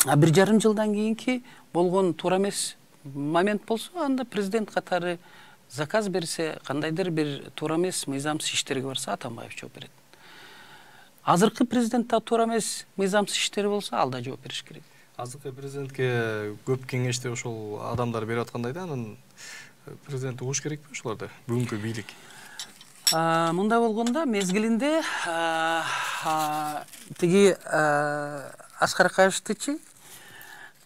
1,5 жылдан кийинки болгон туура эмес момент болсо, анда президент катары заказ берсе, кандайдыр бир туура эмес мыйзамсыз иштерге барса, Атамбаев жооп берет. Азыркы президентте туура эмес мыйзамсыз иштери болсо, ал да жооп бериш керек. Азыркы президентке көп кеңешти ошол адамдар берип аткандай да, анан президент угуш керекпи ошолорду, бүгүнкү бийлик? Мындай болгондо мезгилинде тиги Аскар Акаевичтичи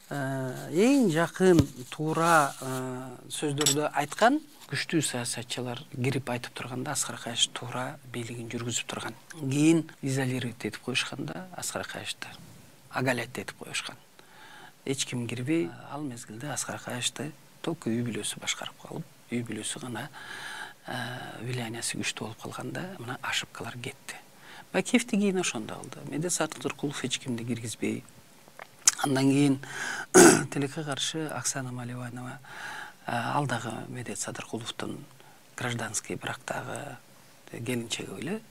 эң жакын туура сөздөрдү айткан күчтүү саясатчылар кирип айтып турганда Аскар Акаевич туура бийлигин жүргүзүп турган. Кийин изолировать этип коюшканда Аскар Акаевичти агалять этип коюшкан. Эч ким кирбей, ал мезгилде Аскар Акаевичти только үй бүлөсү башкарып калып, үй бүлөсү гана влияниясы күчтүү болуп калганда, мына ошибкалар кетти. Бакеевти кийин ошондо алды. Медет Садыков эч кимди киргизбей. Андан кийин тилекке каршы Оксана Маливанова, ал дагы Медет Садыркуловдун гражданский брактагы келинчеги эле,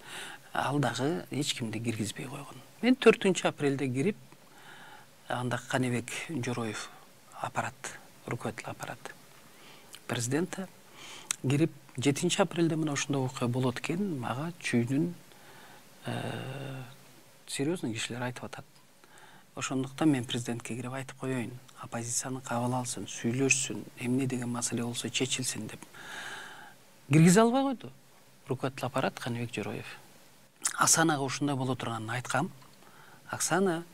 ал дагы эч кимди киргизбей койгон. Мен 4 апрелде кирип, анда Каныбек Жороев аппарат, руководитель аппарат президента кирип, 7 апрелде мына ушундай окуя болот экен, мага чүйдүн серьезный кишилер айтып атат. ошондуктан мен президентке кирип айтып коеюн, оппозицияны кабыл алсын, сүйлөшсүн, эмне деген маселе болсо чечилсин деп. Киргизе албай койду руководитель аппарат Каныбек Жороев. Оксанага ушундай боло турганын айткам. Оксана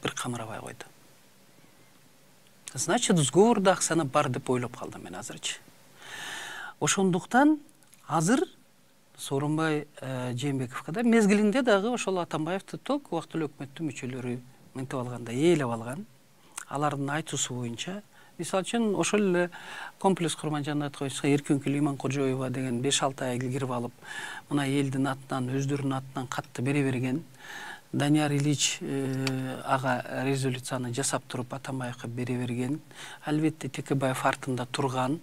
бир камырабай койду. Значит, сговорда Оксана бар деп ойлоп калдым мен азырчы. Ошондуктан азыр Сооронбай Жээнбековго да мезгилинде дагы ошол Атамбаевди ток убактылуу өкмөттүн мүчөлөрү мынтип алганда ээлеп алган. Алардын айтуусу боюнча, мисалы үчүн ошол эле комплекс Курманжандат койсо Эркүнкүл Иманкожоева деген 5-6 ай кирип алып, мына элдин атынан, өздөрүнүн атынан катты бере берген. Данияр Ильич ага резолюцияны жасап туруп Атамбаевге бере берген. Албетте Текебаев артында турган.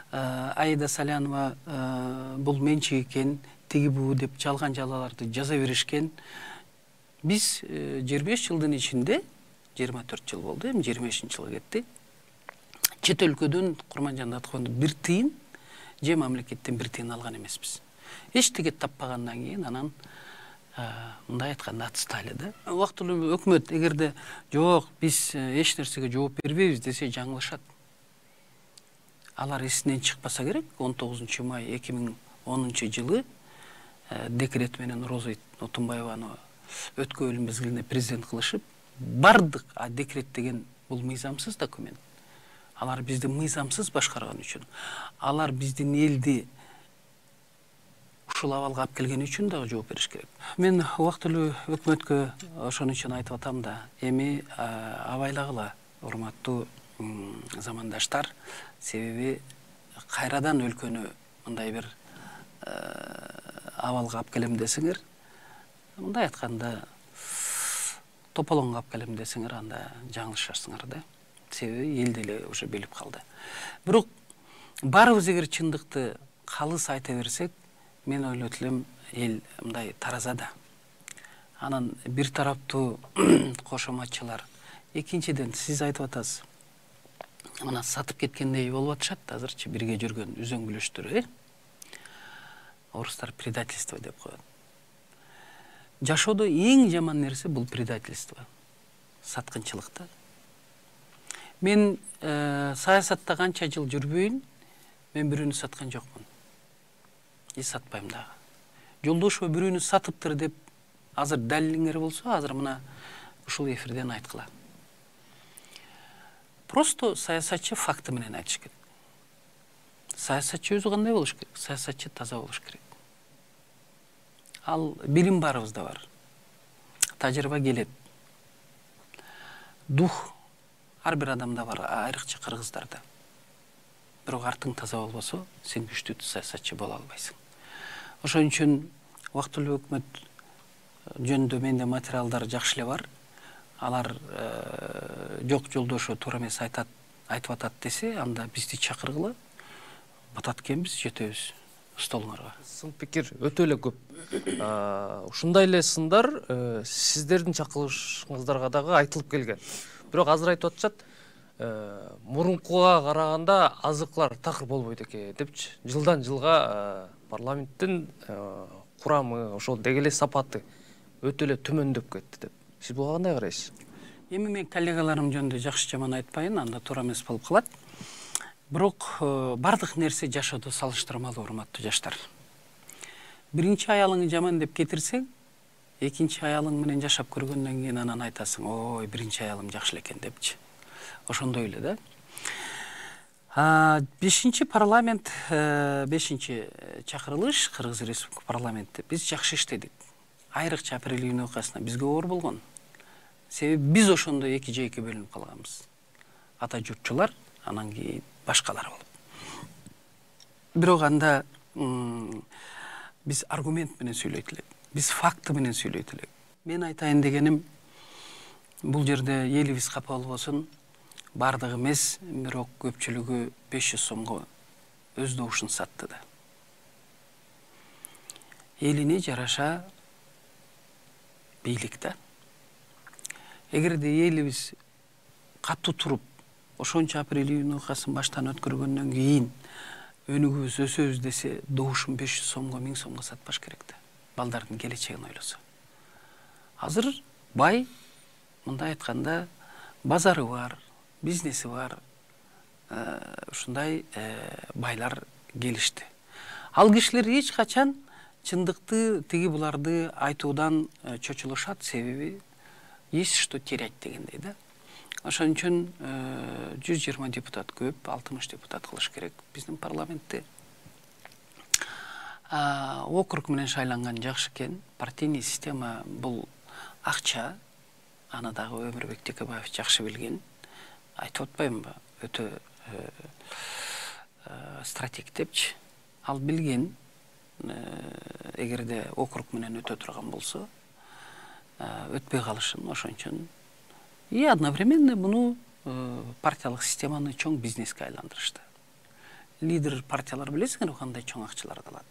Аида Салянова бул менчик экен, тиги буу деп жалган жалаларды жаза беришкен. Биз 25 жылдын ичинде, 24 жыл болду, эми 25-жылга кетти. Чет өлкөдөн Курманжандат фонду бир тыйын, же мамлекеттен бир тыйын алган эмеспиз. Эчтеке таппагандан кийин анан мындай айтканда отстали да. Убактылуу өкмөт эгерде жок, биз эч нерсеге жооп бербейбиз десе жаңылышат. Алар эсинен чыкпаса керек. 19 май 2010 жылы декрет менен Роза Отунбаеваны өткөн мезгилинде президент кылышып, бардык декрет деген бул мыйзамсыз документ. Алар бизди мыйзамсыз башкарган үчүн, алар биздин элди ушул абалга алып келген үчүн дагы жооп бериш керек. Мен убактылуу өкмөткө ошон үчүн айтып атам да, эми абайлагыла, урматтуу замандаштар, себеби кайрадан өлкөнү мындай бир абалга алып келем десеңер, мындай айтканда тополоңго алып келем десеңер, анда жаңылышасыңар да. Себеби эл деле уже билип калды. Бирок баарыбыз эгер чындыкты калыс айта берсек, мен ойлойт элем эл мындай таразада. Анан бир тараптуу кошоматчылар. Экинчиден сиз айтып атасыз. Мына сатып кеткендей болуп атышат азырчы бирге жүргөн үзөң бүлөштөр, Орустар предательство деп коет. Жашоодо эң жаман нерсе бул предательство. Саткынчылыкта. Мен саясатта канча жыл жүрбөйүн, мен бирөөнү саткан жокмун. Сатпайм дагы. Жолдошо бирөөнү сатыптыр деп азыр далилиңер болсо, азыр мына ушул эфирден айткыла. Просто саясатчы факты менен айтыш керек. Саясатчы өзү кандай болуш керек? Саясатчы таза болуш керек. Ал билим баарыбызда бар. Тажрыйба келет. Дух ар бир адамда бар, айрыкча кыргыздарда. Бирок артың таза болбосо, сен күчтүү саясатчы боло албайсың. Ошон үчүн убактылуу өкмөт жөнүндө менде материалдар жакшы эле бар. Алар жок жолдошу туура эмес айтып атат десе, анда бизди чакыргыла. Батат экенбиз, жетебиз столуңарга. Сын пикир өтө эле көп. Ушундай эле сындар сиздердин чакырышыңыздарга дагы айтылып келген. Бирок азыр айтып атышат, мурункуга караганда азыклар такыр болбойт экен депчи. Жылдан жылга парламенттин курамы, ошол деги эле сапаты өтө эле төмөндөп кетти деп. Сиз буга кандай карайсыз? Эми мен коллегаларым жөнүндө жакшы жаман айтпайын, анда туура эмес болуп калат. Бирок бардык нерсе жашоодо салыштырмалуу, урматтуу жаштар. Биринчи аялыңы жаман деп кетирсең, экинчи аялың менен жашап көргөндөн кийин анан айтасың, ой, биринчи аялым жакшы экен депчи. Ошондой эле да. 5-чи парламент, 5-чи чакырылыш Кыргыз Республика парламентте биз жакшы иштедик. Айрыкча апрель июнь окуясына бизге оор болгон. Себеби биз ошондо эки жейке бөлүнүп калганбыз. Ата журтчулар, анан кийин башкалар болуп. Бирок анда биз аргумент менен сүйлөйт элек. Биз факты менен сүйлөйт элек. Мен айтайын дегеним, бул жерде элибиз капа болбосун, бардыгы эмес, бирок көпчүлүгү 500 сомго өз добушун сатты да. Элине жараша бийлик да. Эгерде элибиз катуу туруп, ошончо апрель июнь окуясын баштан өткөргөндөн кийин өнүгүбүз, өсөбүз десе, добушун 500 сомго, 1000 сомго сатпаш керек да. Балдардын келечегин ойлосо. Азыр бай мындай айтканда базары бар, бизнеси бар, ушундай байлар келишти. Ал кишилер эч качан чындыкты тиги буларды айтуудан чочулушат, себеби есть что терять дегендей да. Ошон үчүн 120 депутат көп, 60 депутат кылыш керек биздин парламентте. Округ менен шайланган жакшы экен. Партийный система бул акча, аны дагы Өмүрбек Текебаев жакшы билген. Айтып атпаймынбы? Өтө стратег депчи. Ал билген, эгерде округ менен өтө турган болсо, өтпөй калышын. Ошон үчүн и одновременно муну партиялык системаны чоң бизнеске айландырышты. Лидер партиялар билесиңерби кандай чоң акчаларды алат.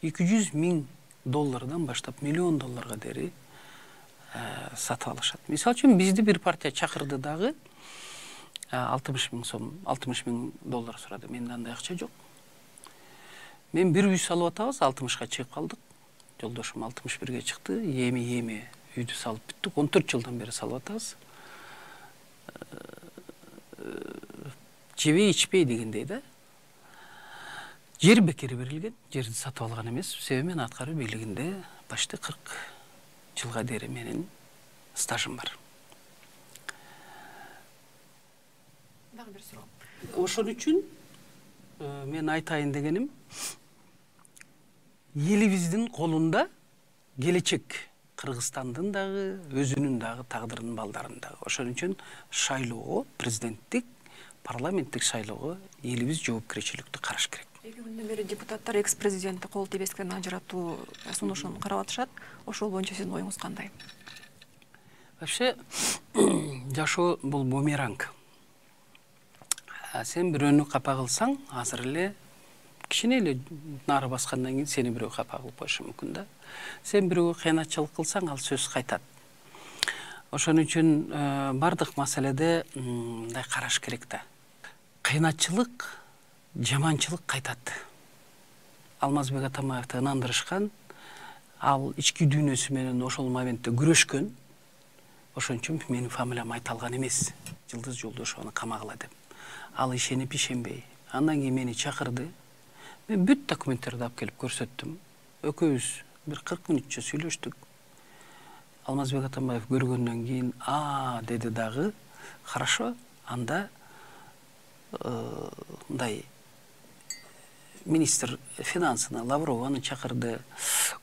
$200,000 баштап $1 миллион дери сатып алышат. Мисалы үчүн бизди бир партия чакырды дагы $60,000 сурады. Менде андай акча жок. Мен бир үй салып атабыз, 60га чыгып калдык. Жолдошум 61ге чыкты. Эми үйдү салып бүттүк. 14 жылдан бери салып атабыз. Жебей ичпей дегендей да. Жер бекер берилген, жерди сатып алган эмес. Себеби мен аткаруу бийлигинде почти 40 жылга дери менин стажым бар. Дагы бир суроо. Ошон үчүн мен айтайын дегеним, элибиздин колунда келечек. Кыргызстандын дагы, өзүнүн дагы тагдырынын балдарын дагы. Ошон үчүн шайлоого, президенттик, парламенттик шайлоого элибиз жоопкерчиликтүү караш керек. 2 күндөн бери депутаттар экс-президентти кол тийбестен ажыратуу сунушун карап атышат. Ошол боюнча сиздин оюңуз кандай? Вообще, жашоо бул бумеранг. Сен бирөөнү капа кылсаң, азыр эле кичине эле нары баскандан кийин сени бирөө капа кылып коюшу мүмкүн да. Сен бирөөгө кыйначылык кылсаң, ал сөз кайтат. Ошон үчүн бардык маселеде мындай караш керек да. Кыйначылык, жаманчылык кайтат. Алмазбек Атамбаевди ынандырышкан, ал ички дүйнөсү менен ошол моментте күрөшкөн. Ошон үчүн менин фамилиям айталган эмес. Жылдыз Жолдошованы камагыла деп. Ал ишенип ишенбей. Андан кийин мени чакырды. Мен бүт документтерди алып келип көрсөттүм. Экөөбүз бир 40 мүнөтчө сүйлөштүк. Алмазбек Атамбаев көргөндөн кийин деди дагы, хорошо, анда мындай министр финансыны Лаврованы чакырды,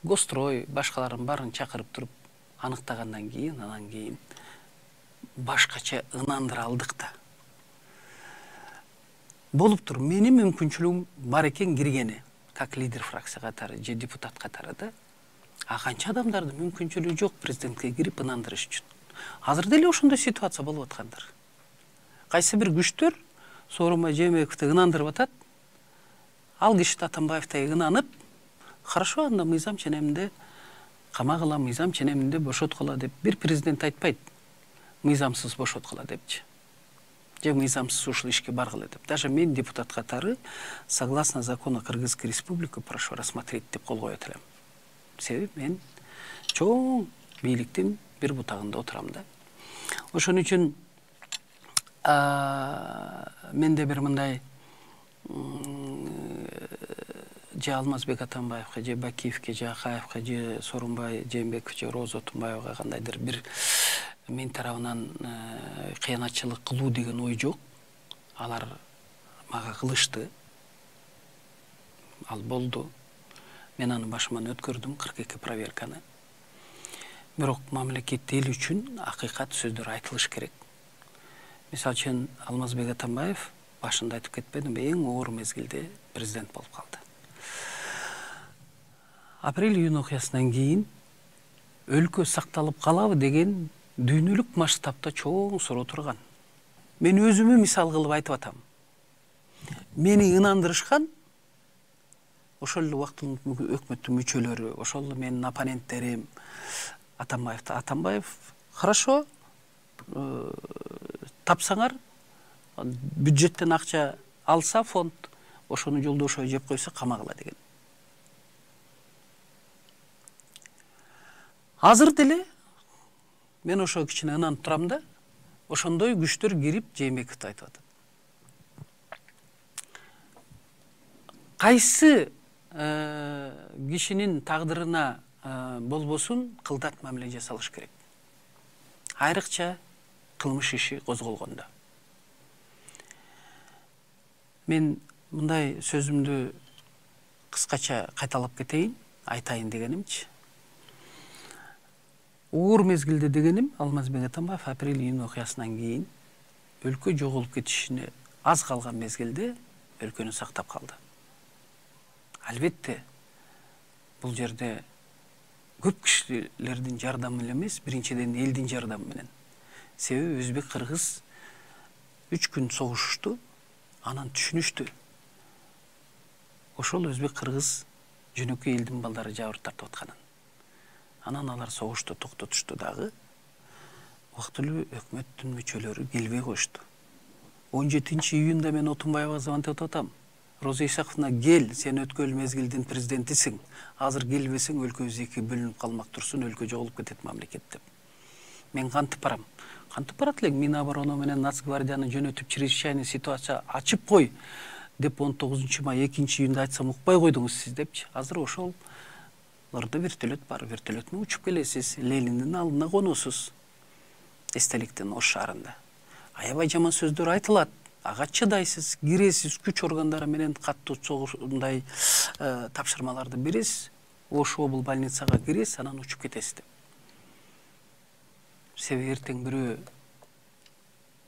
Гострой, башкаларын баарын чакырып туруп аныктагандан кийин, анан кийин башкача ынандыра алдык да. Болуп тур, менин мүмкүнчүлүгүм бар экен киргени, как лидер фракция катары же депутат катары да. Канча адамдардын мүмкүнчүлүгү жок президентке кирип ынандырыш үчүн. Азыр деле ошондой ситуация болуп аткандыр. Кайсы бир күчтөр Сооронбай Жээнбековди ынандырып атат. Ал киши Атамбаевди ынанып, хорошо, анда мыйзам ченеминде камагыла, мыйзам ченеминде бошоткула деп бир президент айтпайт. Мыйзамсыз бошоткула депчи. Же мыйзамсыз ушул ишке баргыла деп. Даже мен депутат катары согласно закону Кыргызской республики прошу рассмотреть деп кол коет элем. Себеби мен чоң бийликтин бир бутагында отурам да. Ошон үчүн менде бир мындай же Алмазбек Атамбаевге, же Бакиевке, же Акаевге, же Сооронбай Жээнбеков, же Роза Отунбаевага кандайдыр бир мен тарабынан кыянатчылык кылуу деген ой жок. Алар мага кылышты. Ал болду. Мен аны башыман өткөрдүм 42 проверканы. Бирок мамлекет эл үчүн акыйкат сөздөр айтылыш керек. Мисалы үчүн Алмазбек Атамбаев башында айтып кетпедимби, эң оор мезгилде президент болуп калды. Апрель-июнь окуясынан кийин өлкө сакталып калабы деген дүйнөлүк масштабта чоң суроо турган. Мен өзүмө мисал кылып айтып атам. Мени ынандырышкан ошол эле убактын өкмөттүн мүчөлөрү, ошол эле менин оппоненттерим Атамбаев, хорошо, тапсаңар, бюджеттен акча алса фонд, ошону Жолдошов жеп койсо камагыла деген. Азыр деле мен ошо кичине ынанып турам да, ошондой күчтөр кирип Жээнбековду айтып атат. Кайсы кишинин тагдырына болбосун кылдат мамиле жасалыш керек. Айрыкча кылмыш иши козголгондо. Мен мындай сөзүмдү кыскача кайталап кетейин, айтайын дегенимчи. Оор мезгилде дегеним Алмазбек Атамбаев апрель-июнь окуясынан кийин өлкө жоголуп кетишине аз калган мезгилде өлкөнү сактап калды. Албетте, бул жерде көп кишилердин жардамы эле эмес, биринчиден элдин жардамы менен. Себеби өзбек кыргыз 3 күн согушушту, анан түшүнүштү. Ошол өзбек кыргыз жөнөкөй элдин балдары жабыр тартып атканын. Анан алар согушту токтотушту дагы. Убактылуу өкмөттүн мүчөлөрү келбей коюшту. 17-июнда мен Отунбаевга звонтеп атам. Роза Исаковна, кел, сен өткөн мезгилдин президентисиң. Азыр келбесең өлкөбүз эки бөлүнүп калмак турсун, өлкө жоголуп кетет мамлекет деп. Мен кантип барам? Кантип барат элең? Минобороно менен Нацгвардияны жөнөтүп, чрезвычайный ситуация ачып кой деп 19-май 2-июнда айтсам укпай койдуңуз сиз депчи. Азыр ошол лырда вертолет бар, вертолеттен учуп келесиз, Лениндин алдына коносуз. Эстеликтин Ош шаарында. Аябай жаман сөздөр айтылат. Ага чыдайсыз, киресиз, күч органдары менен каттуу согушундай тапшырмаларды бересиз. Ош обл больницага киресиз, анан учуп кетесиз деп. Себеби эртең бирөө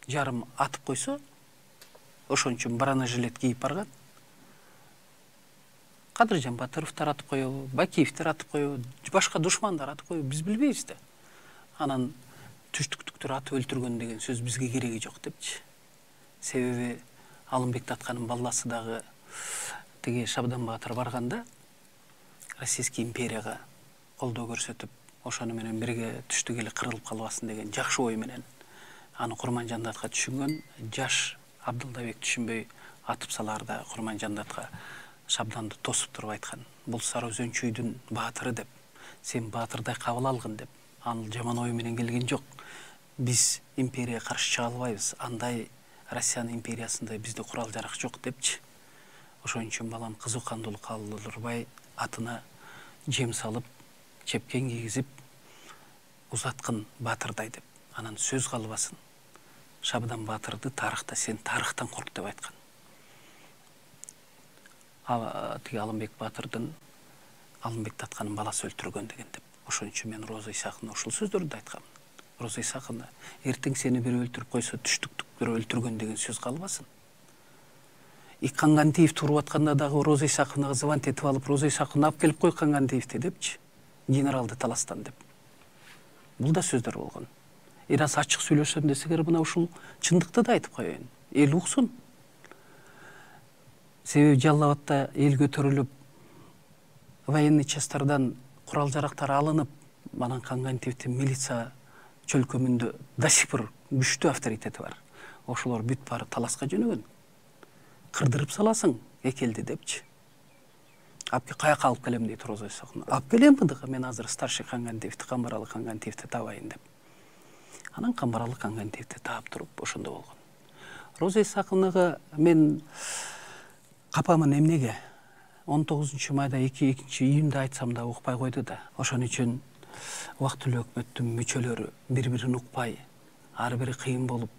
жарым атып койсо, ошон үчүн бронежилет кийип барган. Кадыржан Батыровдор атып коебу, Бакиевдер атып коебу, башка душмандар атып коебу, биз билбейбиз да. Анан түштүктүктөр атып өлтүргөн деген сөз бизге кереги жок депчи. Себеби Алымбек Татканын баласы дагы тиги Шабдан Баатыр барганда Российский империяга колдоо көрсөтүп, ошону менен бирге түштүк эле кырылып калбасын деген жакшы ой менен аны Курманжандатка түшүнгөн. Жаш Абдылдабек түшүнбөй атып салаарда Курманжандатка Шабданды тосуп туруп айткан. Бул Сары Өзөнчүйдүн баатыры деп, сен баатырдай кабыл алгын деп. Ал жаман ой менен келген жок. Биз империяга каршы чыга албайбыз. Андай Россиянын империясындай бизде курал жарак жок депчи. Ошон үчүн балам кызуу кандуулук калдырбай атына жем салып, чепкен кийгизип узаткын баатырдай деп. Анан сөз калбасын. Шабдан Баатырды тарыхта сен тарыхтан корк деп айткан. Тиги Алымбек Баатырдын Алымбек Татканын баласы өлтүргөн деген деп. Ошон үчүн мен Роза Исаковна ушул сөздөрдү айткам. Роза Исаковна, эртең сени бирөө өлтүрүп койсо, түштүктүктөр өлтүргөн деген сөз калбасын. Кангантиев туруп атканда дагы Роза Исаковнага звонт этип алып, Роза Исаковна алып келип кой Кангантиевди депчи. Генералды таластан деп. Бул да сөздөр болгон. Аз ачык сүйлөшөм десеңер, мына ушул чындыкты да айтып коеюн. Эл уксун. Себеби Жалал Абадта эл көтөрүлүп, военный частардан курал жарактар алынып, анан Кангантиевдин милиция чөлкөмүндө до сих пор күчтүү авторитети бар. Ошолор бүт баары таласка жөнөгөн. Кырдырып саласың экелди депчи. Апке каяка алып келем дейт Роза Исаковна. Алып келем мындыгы, мен азыр старший Кангантиевди, Камбаралы Кангантиевди табайын деп. Анан Камбаралы Кангантиевди таап туруп ошондо болгон. Роза Исаковнага мен капамын эмнеге? 19-майда 2-июнда айтсам да укпай койду да. Ошон үчүн убактылуу өкмөттүн мүчөлөрү бири-бирин укпай, ар бири кыйын болуп,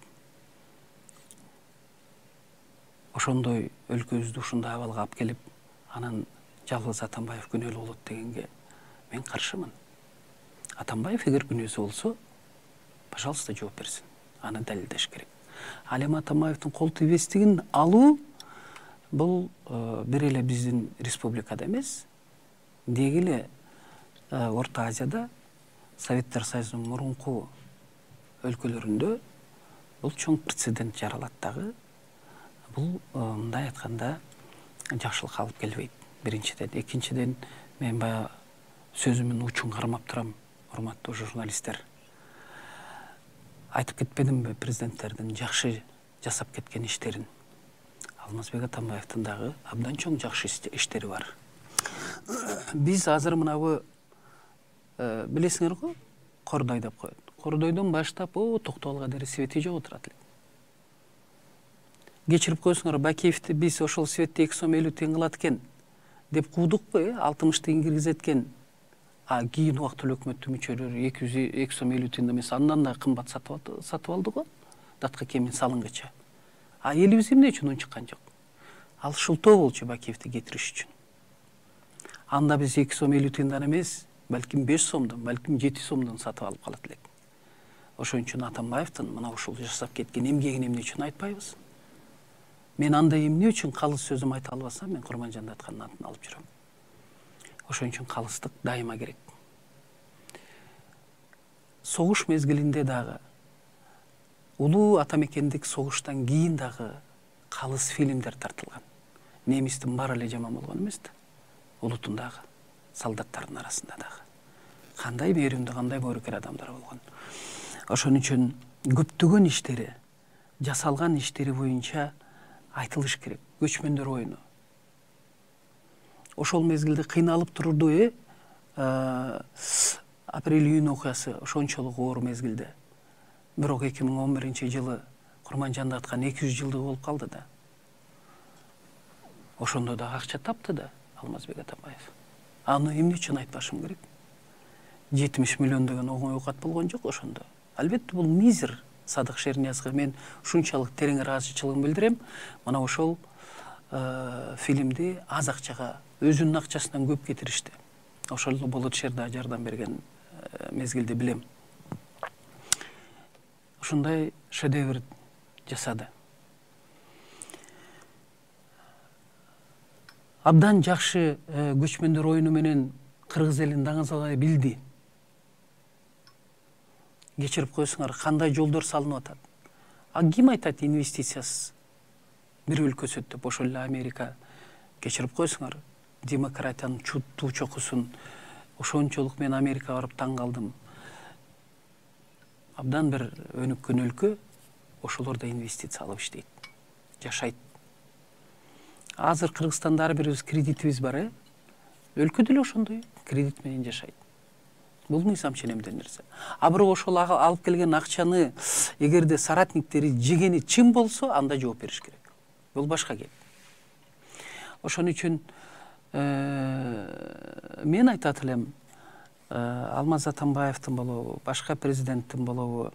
ошондой өлкөбүздү ушундай абалга алып келип, анан жалгыз Атамбаев күнөөлүү болот дегенге мен каршымын. Атамбаев эгер күнөөсү болсо, пожалуйста, жооп берсин. Аны далилдеш керек. Ал эми Атамбаевдин кол тийбестигин алуу бул бир эле биздин республикада эмес, деги эле Орто Азияда, Советтер Союзунун мурунку өлкөлөрүндө бул чоң прецедент жаралат дагы. Бул мындай айтканда жакшылыкка алып келбейт. Биринчиден, экинчиден, мен баягы сөзүмдүн учун кармап турам, урматтуу журналисттер. Айтып кетпедимби президенттердин жакшы жасап кеткен иштерин? Алмазбек Атамбаевдин дагы абдан чоң жакшы иштери бар. Биз азыр мынабы билесиңер го, Кордой деп коет. Кордойдон баштап Токтогулга дери свети жок отурат элек. Кечирип койсуңар, Бакиевди биз ошол светти 2 сом 50 тиын кылат экен деп куудукпу, 60 тиын киргизет экен. Кийин убактылуу өкмөттүн мүчөлөрү 2 сом 50 тиын эмес, андан да кымбат сатып алды го, датка кемин салынгыча. Элибиз эмне үчүн унчуккан жок? Ал шултоо болчу Бакиевди кетириш үчүн. Анда биз 2 сом 50 тиындан эмес, балким 5 сомдон, балким 7 сомдон сатып алып калат элек. Ошон үчүн Атамбаевдин мына ушул жасап кеткен эмгегин эмне үчүн айтпайбыз? Мен андай эмне үчүн калыс сөзүм айта албасам, мен Курманжан Датканын атын алып жүрөм. Ошон үчүн калыстык дайыма керек. Согуш мезгилинде дагы, улуу атамекендик согуштан кийин дагы калыс фильмдер тартылган. Немистин баары эле жаман болгон эмес да. Улутун дагы, солдаттардын арасында дагы. Кандай мээримдүү, кандай боорукер адамдар болгон. Ошон үчүн көптөгөн иштери, жасалган иштери боюнча айтылыш керек. Көчмөндөр оюну. Ошол мезгилде кыйналып турду, апрель-июнь окуясы ошончолук оор мезгилде. Бирок 2011-жылы Курманжан Даткан 200 жылдыгы болуп калды да. Ошондо да акча тапты да Алмазбек Атамбаев. Аны эмне үчүн айтпашым керек? 70 миллион деген оңой оокат болгон жок ошондо. Албетте бул мизер. Садык Шерниязга мен ушунчалык терең ыраазычылыгын билдирем. Мына ошол фильмди аз акчага, өзүнүн акчасынан көп кетиришти. Ошол Болот Шерда жардам берген мезгилде билем. Ушундай шедевр жасады. Абдан жакшы көчмөндөр оюну менен кыргыз элин даңазалай билди. Кечирип койсуңар, кандай жолдор салынып атат. Ким айтат инвестициясыз бир өлкө өсөт деп? Ошол эле Америка. Кечирип койсуңар, демократиянын туу чокусун. Ошончолук мен Америкага барып таң калдым. Абдан бир өнүккөн өлкө, ошолор да инвестиция алып иштейт, жашайт. Азыр Кыргызстанда ар бирибиз кредитибиз бар, өлкө деле ошондой кредит менен жашайт. Бул мыйзам ченемден нерсе. Бирок ошол алып келген акчаны эгерде соратниктери жегени чын болсо, анда жооп бериш керек. Бул башка кеп. Ошон үчүн мен айтат элем, Алмаз Атамбаевдин болобу, башка президенттин болобу,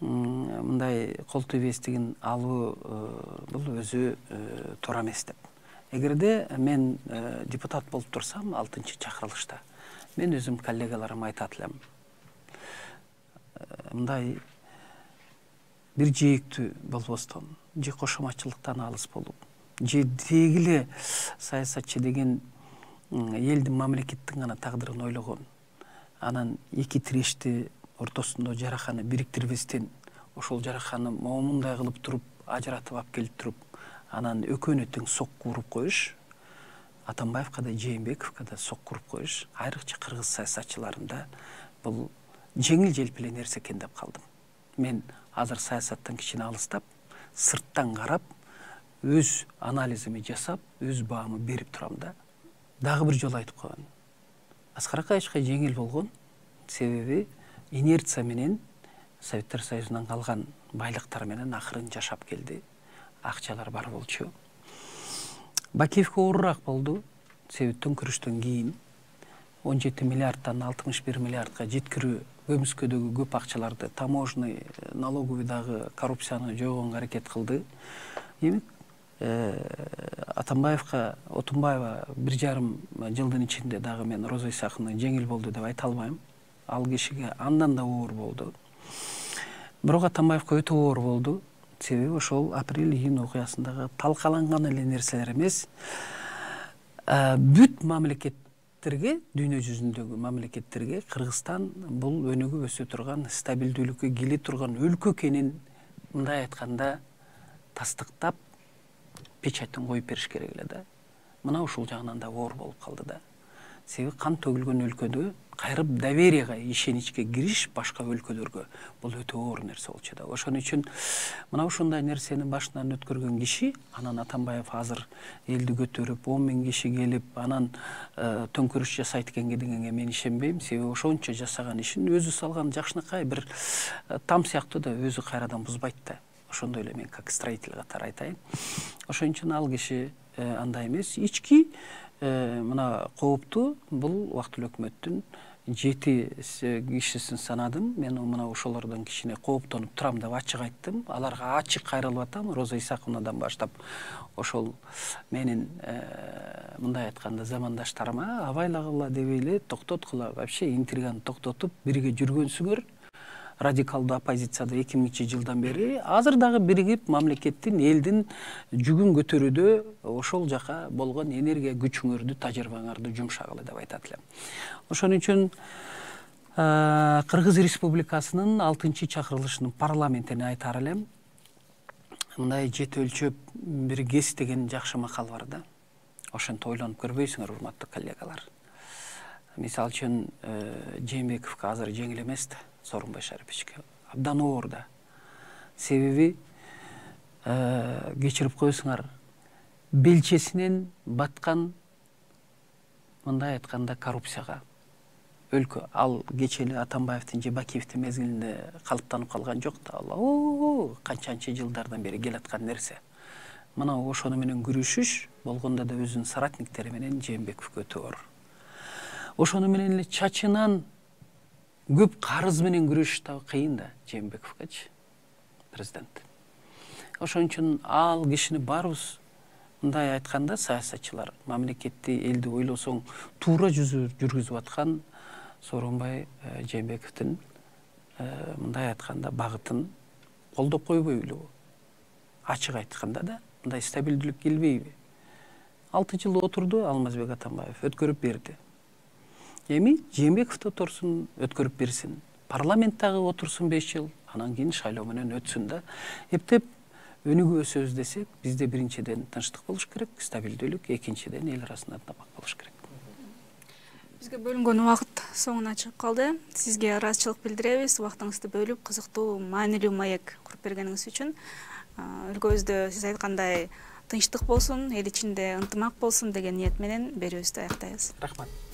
мындай кол тийбестигин алуу бул өзү туура эмес деп. Эгерде мен депутат болуп турсам, 6-чакырылышта, мен өзүм коллегаларыма айтат элем. Мындай бир жээктүү болбостон, же кошоматчылыктан алыс болуп, же дегиле саясатчы деген элдин, мамлекеттин гана тагдырын ойлогон, анан эки тирешти ортосунда жараканы бириктирбестен, ошол жараканы момундай кылып туруп, ажыратып алып келип туруп, анан экөөнө тең сокку уруп коюш, Атамбаевка да, Жээнбековго да сокку уруп коюш, айрыкча кыргыз саясатчыларында бул жеңил желпиле нерсе экен деп калдым. Мен азыр саясаттан кичине алыстап, сырттан карап, өз анализими жасап, өз баамы берип турам да. Дагы бир жолу айтып коеюн. Аскар Акаевичке жеңил болгон, себеби инерция менен Советтер Союзунан калган байлыктар менен акырын жашап келди. Акчалар бар болчу. Бакиевке оорураак болду, себеби төңкүрүштөн кийин 17 миллиардтан 61 миллиардка жеткирүү, көмүскөдөгү көп акчаларды, таможный, налоговый дагы коррупцияны жойгонго аракет кылды. Демек, Атамбаевка, Отунбаева 1,5 жылдын ичинде дагы мен Роза Исаховна жеңил болду деп айта албайм. Ал кишиге андан да оор болду. Бирок Атамбаевка өтө оор болду. Себеби ошол апрель-июнь окуясындагы талкаланган эле нерселер эмес, бүт мамлекеттерге, дүйнө жүзүндөгү мамлекеттерге Кыргызстан бул өнүгүп өсө турган, стабилдүүлүккө келе турган өлкө экенин, мындай айтканда, тастыктап, печатын коюп бериш керек эле да. Мына ушул жагынан да оор болуп калды да. себеби кан төгүлгөн өлкөдө кайрып доверияга, ишеничке кириш башка өлкөлөргө бул өтө оор нерсе болчу да. Ошон үчүн мына ушундай нерсени башынан өткөргөн киши, анан Атамбаев азыр элди көтөрүп 10 000 киши келип, анан төңкөрүш жасайт экен дегенге мен ишенбейм. Себеби ошончо жасаган ишин өзү салган жакшынакай бир там сыяктуу да өзү кайрадан бузбайт да. Ошондой эле мен как строитель катары айтайын. Ошон үчүн ал киши андай эмес. Ички мына кооптуу бул убактылуу өкмөттүн 7 кишисин санадым. Мен мына ошолордон кичине кооптонуп турам деп ачык айттым. Аларга ачык кайрылып атам. Роза Исаковнадан баштап ошол менин мындай айтканда замандаштарыма абайлагыла дебейле, токтоткула, вообще интриганы токтотуп бирге жүргөнсүңөр. Радикалдуу оппозицияда 2000-жылдан бери азыр дагы биригип мамлекеттин, элдин жүгүн көтөрүүдө ошол жака болгон энергия күчүңөрдү, тажрыйбаңарды жумшагыла деп айтат элем. Ошон үчүн Кыргыз Республикасынын 6-чакырылышынын парламентине айтар элем. Мындай жет өлчөп бир кес деген жакшы макал бар да. Ошентип ойлонуп көрбөйсүңөр, урматтуу коллегалар. Мисалы үчүн Жээнбековго азыр жеңил эмес да. Сооронбай Шариповичке абдан оор да. Себеби кечирип коесуңар, белчесинен баткан, мындай айтканда, коррупцияга өлкө. Ал кечели Атамбаевдин же Бакиевдин мезгилинде калыптанып калган жок да. Ал канчанча жылдардан бери келаткан нерсе. Мына ошону менен күрөшүш болгондо да өзүнүн соратниктери менен Жээнбековго өтө оор. Ошону менен эле чачынан көп карыз менен күрөшүш да кыйын да Жээнбековгочу, президент. Ошон үчүн ал кишини баарыбыз мындай айтканда, саясатчылар, мамлекетти, элди ойлосоң туура жүргүзүп аткан Сооронбай Жээнбековдун мындай айтканда багытын колдоп койбойлубу? Ачык айтканда да, мындай стабилдүүлүк келбейби? 6 жыл отурду Алмазбек Атамбаев, өткөрүп берди. Эми Жээнбеков да отурсун, өткөрүп берсин. Парламенттагы отурсун 5 жыл, анан кийин шайлоо менен өтсүн да. Эптеп өнүгүү өсөбүз десек, бизде биринчиден тынчтык болуш керек, стабилдүүлүк, экинчиден эл арасында ынтымак болуш керек. Бизге бөлүнгөн убакыт соңуна чыгып калды. Сизге ыраазычылык билдиребиз. Убактыңызды бөлүп, кызыктуу, маанилүү маек куруп бергениңиз үчүн. Өлкөбүздө сиз айткандай тынчтык болсун, эл ичинде ынтымак болсун деген ниет менен берүүбүздү аяктайбыз. Рахмат.